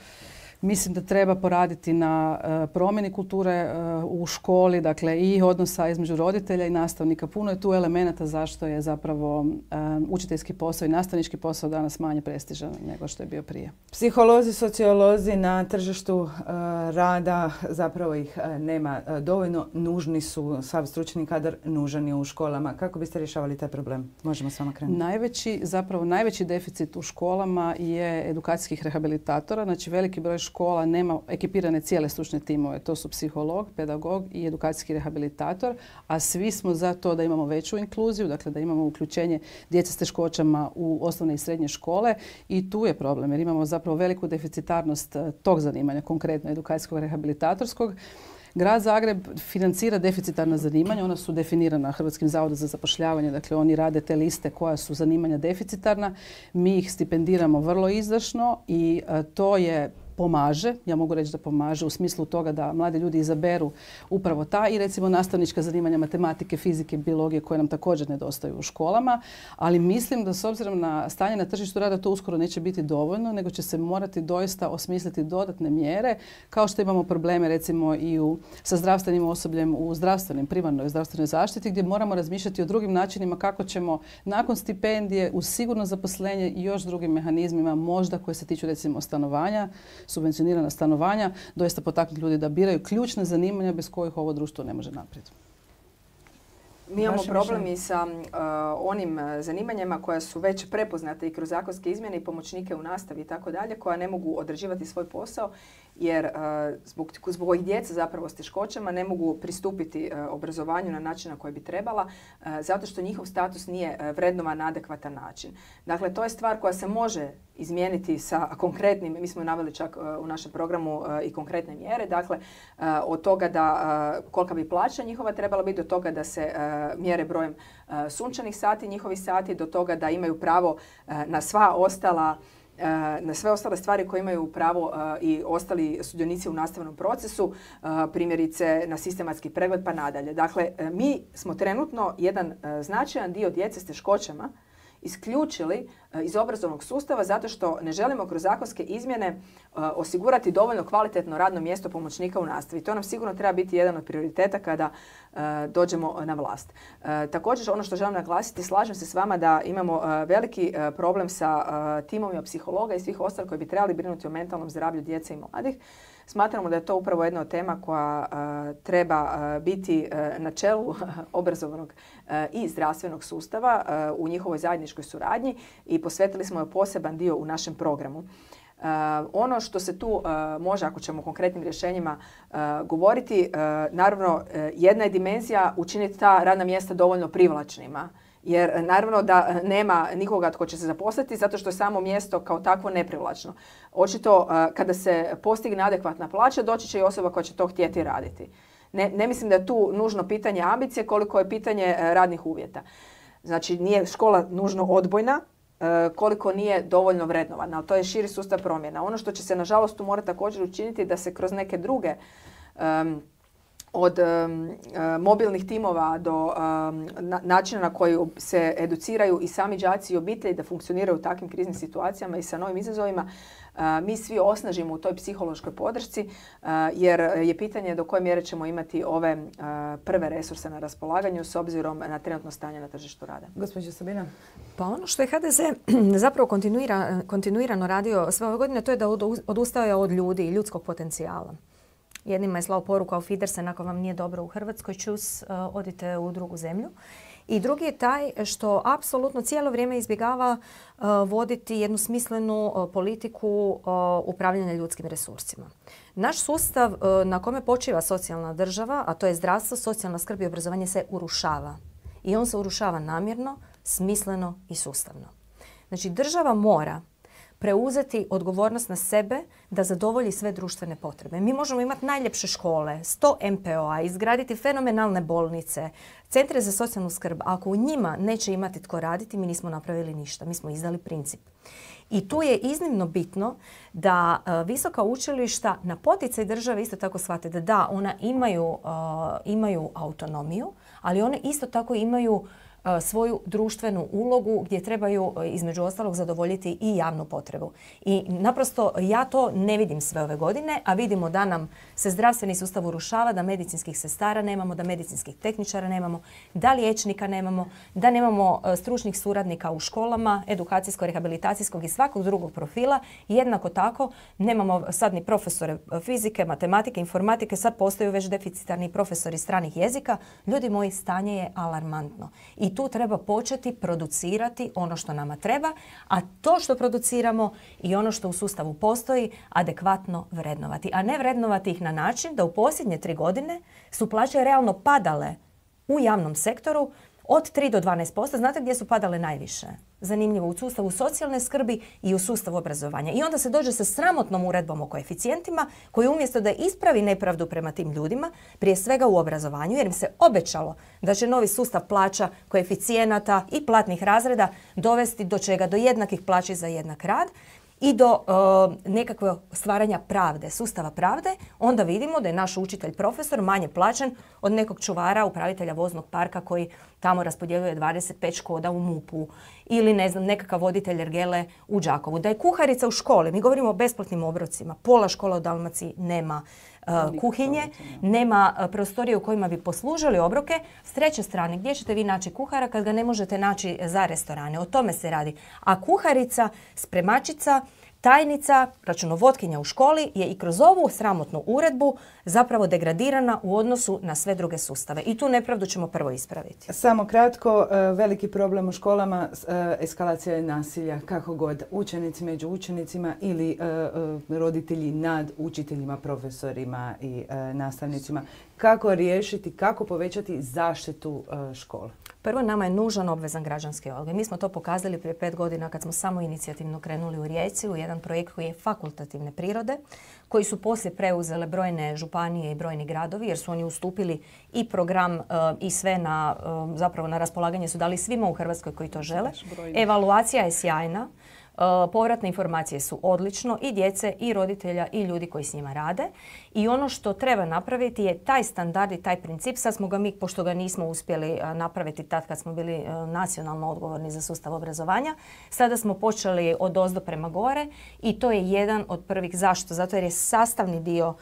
Speaker 4: mislim da treba poraditi na promjeni kulture u školi, dakle i odnosa između roditelja i nastavnika. Puno je tu elemenata zašto je zapravo učiteljski posao i nastavnički posao danas manje prestižan nego što je bio prije.
Speaker 1: Psiholozi, sociolozi na tržištu rada, zapravo ih nema dovoljno. Nužni su, sav stručni kadar nužan je u školama. Kako biste rješavali taj problem? Možemo s vama krenuti.
Speaker 4: Najveći deficit u školama je edukacijskih rehabilitatora. Znači veliki broj škola nema ekipirane cijele stručne timove. To su psiholog, pedagog i edukacijski rehabilitator, a svi smo za to da imamo veću inkluziju, dakle da imamo uključenje djece s teškoćama u osnovne i srednje škole i tu je problem jer imamo zapravo veliku deficitarnost tog zanimanja, konkretno edukacijskog rehabilitatorskog. Grad Zagreb financira deficitarna zanimanja, ona su definirana Hrvatskim zavodom za zapošljavanje, dakle oni rade te liste koja su zanimanja deficitarna, mi ih stipendiramo vrlo izdašno i to je pomaže, ja mogu reći da pomaže u smislu toga da mladi ljudi izaberu upravo ta i recimo nastavnička zanimanja matematike, fizike, biologije koje nam također nedostaju u školama, ali mislim da s obzirom na stanje na tržištu rada to uskoro neće biti dovoljno, nego će se morati doista osmisliti dodatne mjere, kao što imamo probleme recimo i sa zdravstvenim osobljem u primarnoj zdravstvenoj zaštiti, gdje moramo razmišljati o drugim načinima kako ćemo nakon stipendije uz sigurno zaposlenje i još drugim mehanizmima, možda koje se tiču recimo stanovanja, subvencionirana stanovanja, doista potaknuti ljudi da biraju ključne zanimanja bez kojih ovo društvo ne može naprijed.
Speaker 3: Mi imamo problem i sa onim zanimanjima koja su već prepoznate i kroz zakonske izmjene i pomoćnike u nastavi i tako dalje, koja ne mogu odrađivati svoj posao jer zbog ovih djece zapravo s teškoćama ne mogu pristupiti obrazovanju na način na koji bi trebala zato što njihov status nije vrednovan na adekvatan način. Dakle, to je stvar koja se može izmijeniti sa konkretnim, mi smo naveli čak u našem programu i konkretne mjere, dakle od toga da kolika bi plaća njihova trebala biti, do toga da se mjere brojem sunčanih sati, njihovih sati, do toga da imaju pravo na sve ostale stvari koje imaju pravo i ostali sudionici u nastavnom procesu, primjerice na sistematski pregled pa nadalje. Dakle, mi smo trenutno jedan značajan dio djece s teškoćama isključili iz obrazovnog sustava zato što ne želimo kroz zakonske izmjene osigurati dovoljno kvalitetno radno mjesto pomoćnika u nastavi. To nam sigurno treba biti jedan od prioriteta kada dođemo na vlast. Također, ono što želim naglasiti, slažem se s vama da imamo veliki problem sa timovima psihologa i svih ostalih koji bi trebali brinuti o mentalnom zdravlju djece i mladih. Smatramo da je to upravo jedna od tema koja treba biti na čelu obrazovnog i zdravstvenog sustava u njihovoj zajedničkoj suradnji i posvetili smo joj poseban dio u našem programu. Ono što se tu može, ako ćemo o konkretnim rješenjima govoriti, naravno jedna je dimenzija učiniti ta radna mjesta dovoljno privlačnima. Jer naravno da nema nikoga tko će se zaposliti zato što je samo mjesto kao takvo neprivlačno. Očito kada se postigne adekvatna plaća doći će i osoba koja će to htjeti raditi. Ne mislim da je tu nužno pitanje ambicije koliko je pitanje radnih uvjeta. Znači nije škola nužno odbojna koliko nije dovoljno vrednovana, ali to je širi sustav promjena. Ono što će se nažalost tu morati također učiniti da se kroz neke druge od mobilnih timova do načina na koji se educiraju i sami đaci i obitelji da funkcioniraju u takvim kriznim situacijama i sa novim izazovima, mi svi osnažimo u toj psihološkoj podršci, jer je pitanje do koje mjere ćemo imati ove prve resurse na raspolaganju s obzirom na trenutno stanje na tržištu rada.
Speaker 1: Gospođo Sabina?
Speaker 2: Pa ono što je HDZ zapravo kontinuirano radio sve ove godine, to je da odustaje od ljudi i ljudskog potencijala. Jednima je slao poruku auf Wiedersehen, ako vam nije dobro u Hrvatskoj, čus, odite u drugu zemlju. I drugi je taj što apsolutno cijelo vrijeme izbjegava voditi jednu smislenu politiku upravljanja ljudskim resursima. Naš sustav na kome počiva socijalna država, a to je zdravstvo, socijalna skrb i obrazovanje, se urušava. I on se urušava namjerno, smisleno i sustavno. Znači, država mora preuzeti odgovornost na sebe da zadovolji sve društvene potrebe. Mi možemo imati najljepše škole, 100 MPO-a, izgraditi fenomenalne bolnice, centre za socijalnu skrb. Ako u njima neće imati tko raditi, mi nismo napravili ništa. Mi smo izdali princip. I tu je iznimno bitno da visoka učilišta na poticaj države isto tako shvate da ona imaju autonomiju, ali one isto tako imaju svoju društvenu ulogu gdje trebaju između ostalog zadovoljiti i javnu potrebu. I naprosto ja to ne vidim sve ove godine, a vidimo da nam se zdravstveni sustav urušava, da medicinskih sestara nemamo, da medicinskih tehničara nemamo, da liječnika nemamo, da nemamo stručnih suradnika u školama, edukacijsko-rehabilitacijskog i svakog drugog profila. Jednako tako nemamo sad ni profesore fizike, matematike, informatike, sad postaju već deficitarni profesori stranih jezika. Ljudi moji, stanje je alarmantno. I tu treba početi producirati ono što nama treba, a to što produciramo i ono što u sustavu postoji adekvatno vrednovati. A ne vrednovati ih na način da u posljednje 3 godine su plaće realno padale u javnom sektoru od 3 do 12%. Znate gdje su padale najviše? Zanimljivo, u sustavu socijalne skrbi i u sustavu obrazovanja. I onda se dođe sa sramotnom uredbom o koeficijentima koji umjesto da ispravi nepravdu prema tim ljudima, prije svega u obrazovanju, jer im se obećalo da će novi sustav plaća, koeficijenata i platnih razreda dovesti do čega? Do jednakih plaća za jednak rad i do nekakve stvaranja pravde, sustava pravde, onda vidimo da je naš učitelj, profesor manje plaćen od nekog čuvara, upravitelja voznog parka koji tamo raspodjeljuje 25 Škoda u MUP-u ili ne znam, nekakav voditelj ergele u Đakovu. Da je kuharica u školi, mi govorimo o besplatnim obrocima, pola škola u Dalmaciji nema kuhinje, nema prostorije u kojima bi poslužili obroke. S treće strane, gdje ćete vi naći kuhara kad ga ne možete naći za restorane? O tome se radi. A kuharica, spremačica, tajnica, računovodkinja u školi je i kroz ovu sramotnu uredbu zapravo degradirana u odnosu na sve druge sustave. I tu nepravdu ćemo prvo ispraviti.
Speaker 1: Samo kratko, veliki problem u školama, eskalacija je nasilja, kako god, učenici među učenicima ili roditelji nad učiteljima, profesorima i nastavnicima. Kako riješiti, kako povećati zaštitu škole?
Speaker 2: Prvo, nama je nužan obvezan građanski odgoj. Mi smo to pokazali prije 5 godina kad smo samo inicijativno krenuli u Rijeci u jedan projekt koji je fakultativne prirode, koji su poslije preuzele brojne županije i brojni gradovi jer su oni ustupili i program i sve zapravo na raspolaganje su dali svima u Hrvatskoj koji to žele. Evaluacija je sjajna. Povratne informacije su odlično i djece i roditelja i ljudi koji s njima rade. I ono što treba napraviti je taj standard i taj princip. Sad smo ga mi, pošto ga nismo uspjeli napraviti tad kad smo bili nacionalno odgovorni za sustav obrazovanja, sada smo počeli odozdo prema gore i to je jedan od prvih. Zašto? Zato jer je sastavni dio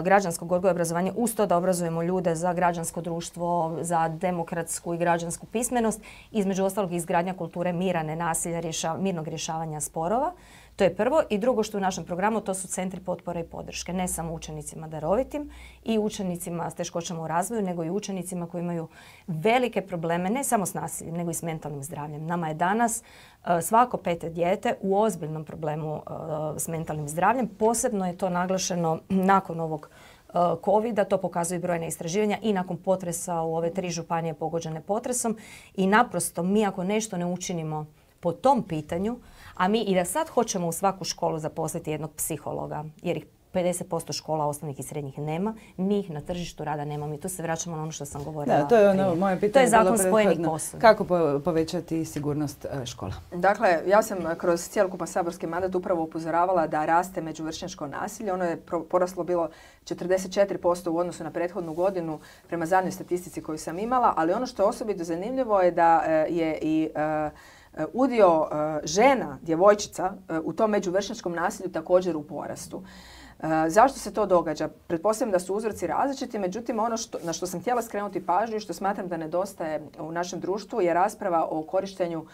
Speaker 2: građanskog odgoja i obrazovanja uz to da obrazujemo ljude za građansko društvo, za demokratsku i građansku pismenost, između ostalog izgradnja kulture mira, nenasilja, mirnog rješavanja sporova. To je prvo. I drugo što u našem programu to su centri potpore i podrške. Ne samo učenicima darovitim i učenicima s teškoćama u razvoju, nego i učenicima koji imaju velike probleme, ne samo s nasiljem, nego i s mentalnim zdravljem. Nama je danas svako 5. dijete u ozbiljnom problemu s mentalnim zdravljem. Posebno je to naglašeno nakon ovog COVID-a, to pokazuju brojne istraživanja i nakon potresa u ove 3 županije pogođene potresom. I naprosto mi ako nešto ne učinimo po tom pitanju, a mi i da sad hoćemo u svaku školu zaposliti jednog psihologa, jer ih 50% škola osnovnih i srednjih nema, mi ih na tržištu rada nemamo i tu se vraćamo na ono što sam govorila.
Speaker 1: Da, to je ono moje pitanje.
Speaker 2: To je zakon spojenih posuda.
Speaker 1: Kako povećati sigurnost škola?
Speaker 3: Dakle, ja sam kroz cjelokupan saborski mandat upravo upozoravala da raste međuvršnjačko nasilje. Ono je poraslo bilo 44% u odnosu na prethodnu godinu prema zadnjoj statistici koju sam imala, ali ono što je osobito zanimljivo je da je i udio žena, djevojčica u tom međuvršnjačkom nasilju također u porastu. Zašto se to događa? Pretpostavljam da su uzroci različiti, međutim ono na što sam htjela skrenuti pažnju i što smatram da nedostaje u našem društvu je rasprava o korištenju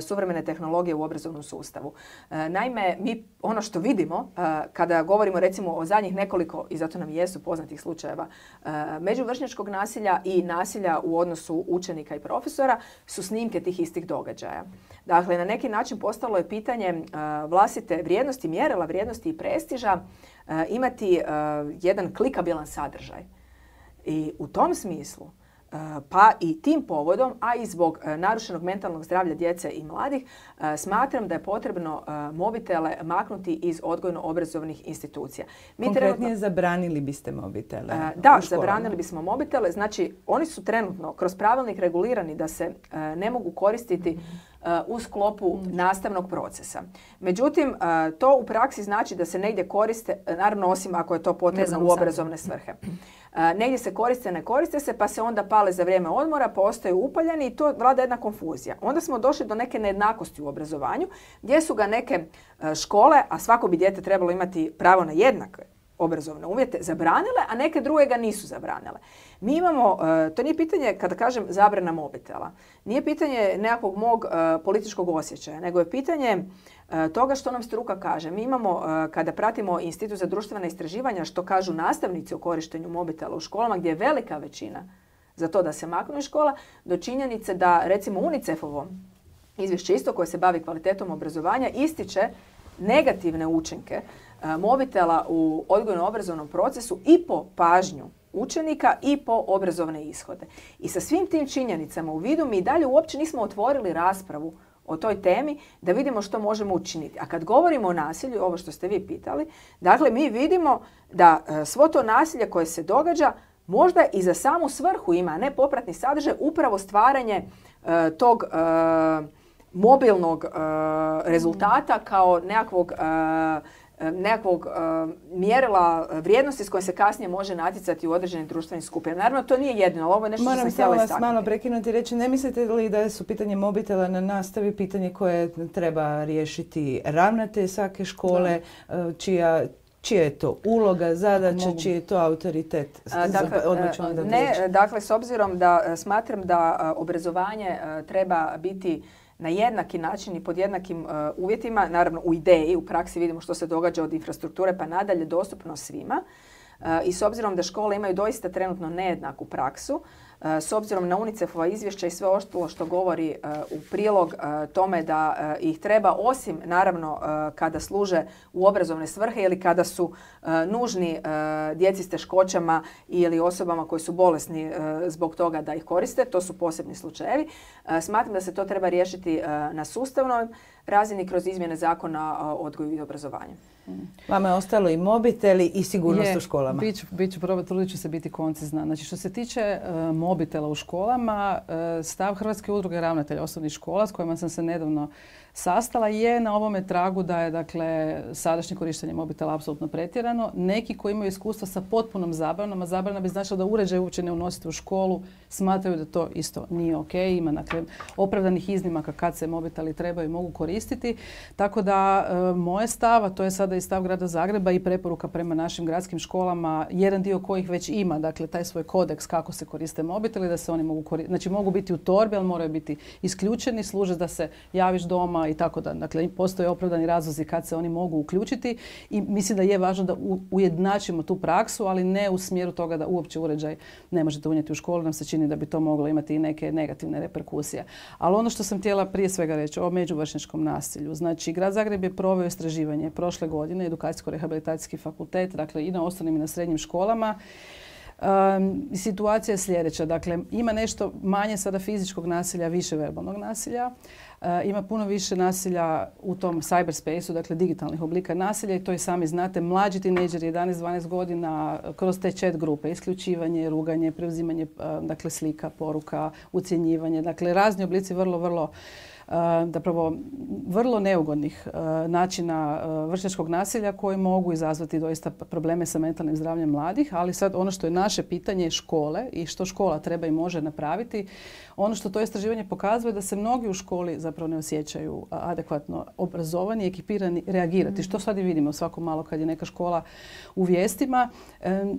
Speaker 3: suvremene tehnologije u obrazovnom sustavu. Naime, mi ono što vidimo kada govorimo recimo o zadnjih nekoliko, i zato nam jesu poznatih slučajeva, međuvršnjačkog nasilja i nasilja u odnosu učenika i profesora su snimke tih istih događaja. Dakle, na neki način postalo je pitanje vlastite vrijednosti, mjerila vrijednosti i prestiža imati jedan klikabilan sadržaj. I u tom smislu, pa i tim povodom, a i zbog narušenog mentalnog zdravlja djece i mladih, smatram da je potrebno mobitele maknuti iz odgojno-obrazovnih institucija.
Speaker 1: Konkretnije, zabranili biste mobitele?
Speaker 3: Da, zabranili bismo mobitele. Znači, oni su trenutno kroz pravilnik regulirani da se ne mogu koristiti u sklopu nastavnog procesa. Međutim, to u praksi znači da se negdje koriste, naravno osim ako je to potrebno u obrazovne svrhe. Negdje se koriste, ne koriste se, pa se onda pale za vrijeme odmora, pa ostaju upaljeni i to vlada jedna konfuzija. Onda smo došli do neke nejednakosti u obrazovanju, gdje su ga neke škole, a svako bi dijete trebalo imati pravo na jednake obrazovne uvjete, zabranile, a neke druge ga nisu zabranile. Mi imamo, to nije pitanje, kada kažem zabrana mobitela, nije pitanje nekakvog mog političkog osjećaja, nego je pitanje toga što nam struka kaže. Mi imamo, kada pratimo Institut za društvena istraživanja, što kažu nastavnici o korištenju mobitela u školama, gdje je velika većina za to da se maknu iz škola, do činjenice da, recimo, UNICEF-ovo izvješće isto koje se bavi kvalitetom obrazovanja ističe negativne učinke mobitela u odgojno-obrazovnom procesu i po pažnju učenika i po obrazovne ishode. I sa svim tim činjenicama u vidu mi dalje uopće nismo otvorili raspravu o toj temi da vidimo što možemo učiniti. A kad govorimo o nasilju, ovo što ste vi pitali, dakle mi vidimo da svo to nasilje koje se događa možda i za samu svrhu ima, a ne popratni sadržaj, upravo stvaranje tog mobilnog rezultata kao nekakvog mjerila vrijednosti s kojim se kasnije može natjecati u određenim društvenim skupinama. Naravno, to nije jedino, ali ovo je nešto što sam htjela istaknuti.
Speaker 1: Moram samo vas malo prekinuti i reći, ne mislite li da su pitanje mobitela na nastavi pitanje koje treba riješiti ravnatelj svake škole, čija je to uloga, zadaća, čiji je to autoritet?
Speaker 3: Dakle, s obzirom da smatram da obrazovanje treba biti na jednaki način i pod jednakim uvjetima, naravno u ideji, u praksi vidimo što se događa od infrastrukture pa nadalje, dostupno svima. I s obzirom da škole imaju doista trenutno nejednaku praksu, s obzirom na UNICEF-ova izvješća i sve ostalo što govori u prilog tome da ih treba, osim naravno kada služe u obrazovne svrhe ili kada su nužni djeci s teškoćama ili osobama koji su bolesni zbog toga da ih koriste, to su posebni slučajevi. Smatram da se to treba riješiti na sustavnoj razini kroz izmjene zakona o odgoju i obrazovanju.
Speaker 1: Vama je ostalo i mobiteli i sigurnost u školama.
Speaker 4: Trudit ću se biti koncizna. Znači, što se tiče mobitela u školama, stav Hrvatske udruge ravnatelja osnovnih škola s kojima sam se nedavno sastala je na ovome tragu da je, dakle, sadašnje korištenje mobitela apsolutno pretjerano. Neki koji imaju iskustva sa potpunom zabranom, a zabrana bi značila da uređaj uopće ne unosite u školu, smatraju da to isto nije ok. Ima, dakle, opravdanih iznimaka kad se mobiteli trebaju i mogu koristiti. Tako da moj stav, a to je sada i stav Grada Zagreba i preporuka prema našim gradskim školama, jedan dio kojih već ima, dakle, taj svoj kodeks kako se koriste mobiteli, da se oni mogu koristiti. Znači, mogu biti u torbi, ali moraju biti isključeni, služe da se javiš doma i tako da. Dakle, postoje opravdani razlozi kad se oni mogu uključiti i mislim da je važno da ujednačimo tu praksu, ali ne u smjeru toga da uopće uređaj ne možete unijeti u školu. Nam se čini da bi to moglo imati i neke negativne reperkusije. Ali ono što sam htjela prije svega reći o međuvršnjačkom nasilju. Znači, Grad Zagreb je proveo istraživanje prošle godine, Edukacijsko-rehabilitacijski fakultet, dakle i na osnovnim i na srednjim školama. Situacija je sljedeća. Dakle, ima nešto manje sada fizičkog nasilja, više verbalnog nasilja. Ima puno više nasilja u tom cyberspace-u, dakle digitalnih oblika nasilja i to i sami znate. Mlađi tinejdžeri, 11-12 godina, kroz te chat grupe, isključivanje, ruganje, preuzimanje dakle, slika, poruka, ucjenjivanje. Dakle, razni oblici vrlo neugodnih načina vršnjačkog nasilja koji mogu izazvati doista probleme sa mentalnim zdravljem mladih, ali sad ono što je naše pitanje je škole i što škola treba i može napraviti. Ono što to istraživanje pokazuje da se mnogi u školi zapravo ne osjećaju adekvatno obrazovani i ekipirani reagirati. Što sad i vidimo svako malo kad je neka škola u vijestima,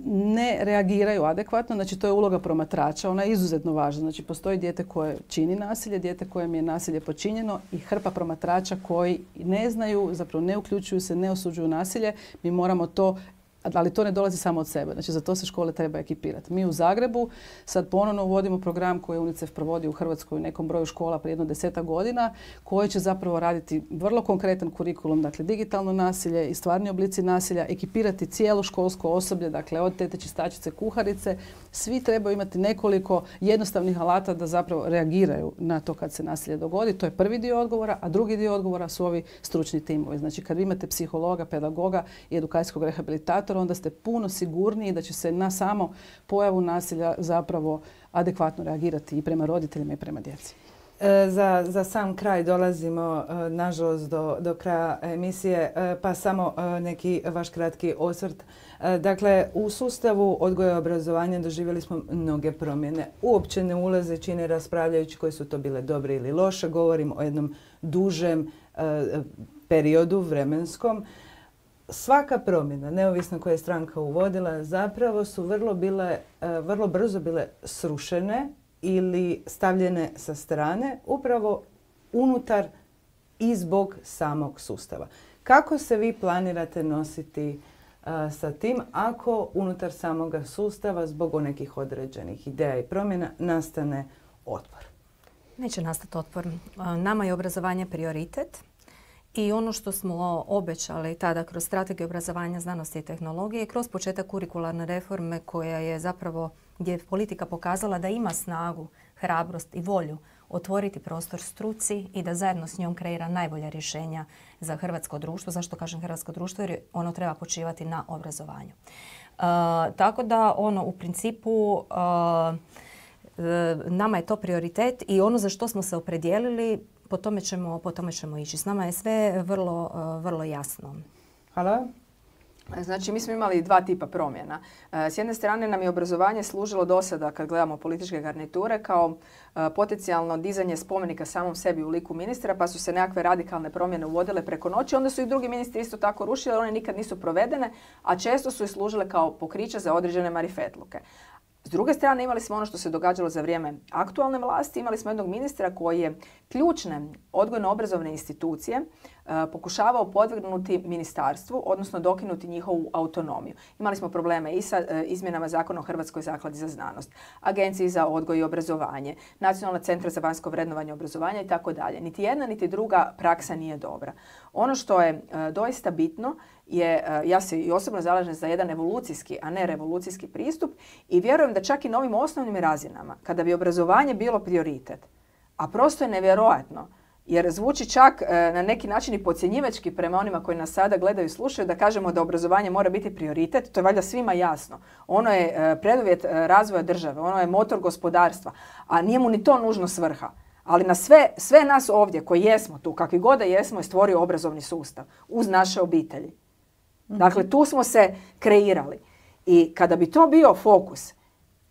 Speaker 4: ne reagiraju adekvatno. Znači to je uloga promatrača, ona je izuzetno važna. Znači postoji dijete koje čini nasilje, dijete kojem je nasilje počinjeno i hrpa promatrača koji ne znaju, zapravo ne uključuju se, ne osuđuju nasilje. Mi moramo to, ali to ne dolazi samo od sebe. Znači za to se škole treba ekipirati. Mi u Zagrebu sad ponovno uvodimo program koji je UNICEF provodio u Hrvatskoj u nekom broju škola prije jedno 10 godina, koji će zapravo raditi vrlo konkretan kurikulum, dakle digitalno nasilje i stvarni oblici nasilja, ekipirati cijelo školsko osoblje, dakle od tete čistačice, kuharice. Svi trebaju imati nekoliko jednostavnih alata da zapravo reagiraju na to kad se nasilje dogodi. To je prvi dio odgovora, a drugi dio odgovora su ovi stručni timovi. Znači kad vi imate psihologa, pedagoga i edukacijskog rehabilitatora, onda ste puno sigurniji da će se na samo pojavu nasilja zapravo adekvatno reagirati i prema roditeljima i prema djeci.
Speaker 1: Za sam kraj dolazimo, nažalost, do kraja emisije, pa samo neki vaš kratki osvrt. Dakle, u sustavu odgoja i obrazovanja doživjeli smo mnoge promjene. Uopće ne ulazeći ne raspravljajući koje su to bile dobre ili loše. Govorim o jednom dužem periodu vremenskom. Svaka promjena, neovisno koja je stranka uvodila, zapravo su vrlo brzo bile srušene ili stavljene sa strane upravo unutar i zbog samog sustava. Kako se vi planirate nositi sa tim ako unutar samoga sustava zbog nekih određenih ideja i promjena nastane otpor?
Speaker 2: Neće nastati otpor. Nama je obrazovanje prioritet. I ono što smo obećali tada kroz strategiju obrazovanja, znanosti i tehnologije, kroz početak kurikularne reforme koja je zapravo, gdje je politika pokazala da ima snagu, hrabrost i volju otvoriti prostor struci i da zajedno s njom kreira najbolja rješenja za hrvatsko društvo. Zašto kažem hrvatsko društvo? Jer ono treba počivati na obrazovanju. Tako da u principu nama je to prioritet i ono za što smo se opredijelili, po tome ćemo ići. S nama je sve vrlo jasno.
Speaker 1: Hvala.
Speaker 3: Znači, mi smo imali dva tipa promjena. S jedne strane nam je obrazovanje služilo do sada, kad gledamo političke garniture, kao potencijalno dizanje spomenika samom sebi u liku ministra, pa su se nekakve radikalne promjene uvodile preko noći. Onda su i drugi ministri isto tako rušili, one nikad nisu provedene, a često su i služile kao pokriće za određene marifetluke. S druge strane, imali smo ono što se događalo za vrijeme aktualne vlasti. Imali smo jednog ministra koji je ključne odgojno-obrazovne institucije pokušavao podvrgnuti ministarstvu, odnosno dokinuti njihovu autonomiju. Imali smo probleme i sa izmjenama Zakona o Hrvatskoj zakladi za znanost, Agenciji za odgoj i obrazovanje, Nacionalna centra za vanjsko vrednovanje obrazovanja i tako dalje. Niti jedna, niti druga praksa nije dobra. Ono što je doista bitno je, ja se i osobno zalažem za jedan evolucijski, a ne revolucijski pristup i vjerujem da čak i na ovim osnovnim razinama, kada bi obrazovanje bilo prioritet, a prosto je nevjerojatno, jer zvuči čak na neki način i podcjenjivački prema onima koji nas sada gledaju i slušaju, da kažemo da obrazovanje mora biti prioritet, to je valjda svima jasno. Ono je preduvjet razvoja države, ono je motor gospodarstva, a nije mu ni to nužno svrha. Ali na sve nas ovdje koji jesmo tu, kakvi god da jesmo, je stvorio obrazovni sustav uz naše obitelji. Dakle, tu smo se kreirali. I kada bi to bio fokus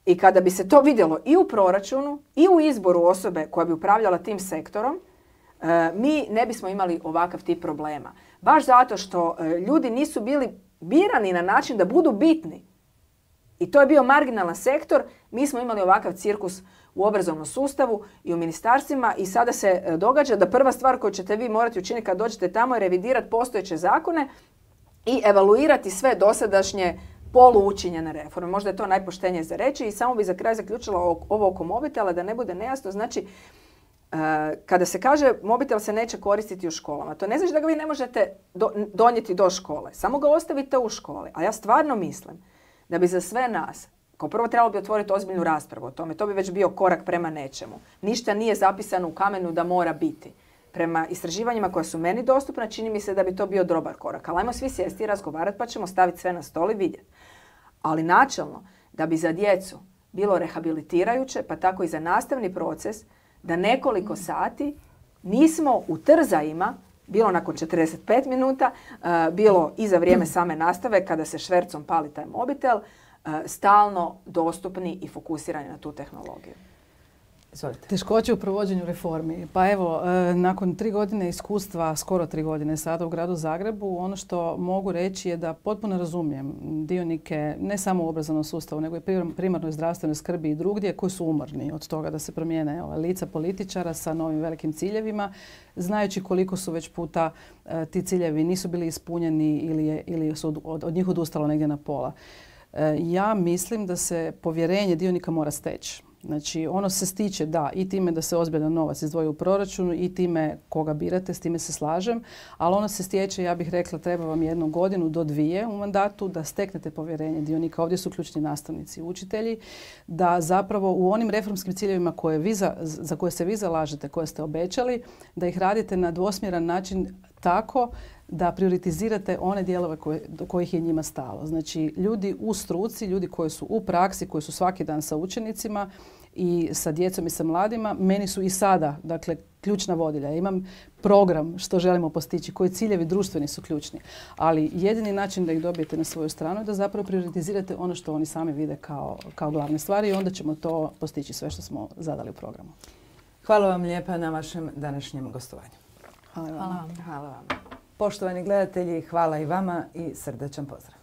Speaker 3: i kada bi se to vidjelo i u proračunu i u izboru osobe koja bi upravljala tim sektorom, mi ne bismo imali ovakav tip problema. Baš zato što ljudi nisu bili birani na način da budu bitni. I to je bio marginalan sektor. Mi smo imali ovakav cirkus u obrazovnom sustavu i u ministarstvima i sada se događa da prva stvar koju ćete vi morati učiniti kad dođete tamo je revidirati postojeće zakone i evaluirati sve dosadašnje poluučinjene reforme. Možda je to najpoštenije za reći i samo bi za kraj zaključila ovo oko mobitela da ne bude nejasno. Znači, kada se kaže mobitel se neće koristiti u školama, to ne znači da ga vi ne možete donijeti do škole. Samo ga ostavite u školi. A ja stvarno mislim da bi za sve nas Kao prvo trebalo bi otvoriti ozbiljnu raspravu o tome. To bi već bio korak prema nečemu. Ništa nije zapisano u kamenu da mora biti. Prema istraživanjima koja su meni dostupna, čini mi se da bi to bio dobar korak. Ali ajmo svi sjesti i razgovarati pa ćemo staviti sve na stol i vidjeti. Ali načelno, da bi za djecu bilo rehabilitirajuće, pa tako i za nastavni proces, da nekoliko sati nismo u trzajima, bilo nakon 45 minuta, bilo i za vrijeme same nastave kada se švercom pali taj mobitel, stalno dostupni i fokusirani na tu tehnologiju.
Speaker 1: Izvolite.
Speaker 4: Teškoće u provođenju reformi. Pa evo, nakon 3 godine iskustva, skoro 3 godine sada u gradu Zagrebu, ono što mogu reći je da potpuno razumijem dionike, ne samo u obrazovnom sustavu, nego i primarnoj zdravstvenoj skrbi i drugdje, koji su umorni od toga da se promijene lica političara sa novim velikim ciljevima, znajući koliko su već puta ti ciljevi nisu bili ispunjeni ili su od njih odustalo negdje na pola. Ja mislim da se povjerenje dionika mora steći. Znači, ono se stiče, da, i time da se ozbiljan novac izdvoji u proračunu i time koga birate, s time se slažem, ali ono se stječe, ja bih rekla, treba vam 1 godinu do 2 u mandatu da steknete povjerenje dionika. Ovdje su ključni nastavnici i učitelji, da zapravo u onim reformskim ciljevima za koje se vi zalažete, koje ste obećali, da ih radite na dvosmjeran način tako da prioritizirate one dijelove do kojih je njima stalo. Znači, ljudi u struci, ljudi koji su u praksi, koji su svaki dan sa učenicima i sa djecom i sa mladima, meni su i sada, dakle, ključna vodilja. Ja imam program što želimo postići, koji ciljevi društveni su ključni. Ali jedini način da ih dobijete na svoju stranu je da zapravo prioritizirate ono što oni sami vide kao glavne stvari i onda ćemo to postići sve što smo zadali u programu.
Speaker 1: Hvala vam lijepa na vašem današnjem gostovanju.
Speaker 4: Hvala vam.
Speaker 3: Hvala vam.
Speaker 1: Poštovani gledatelji, hvala i vama i srdačan pozdrav.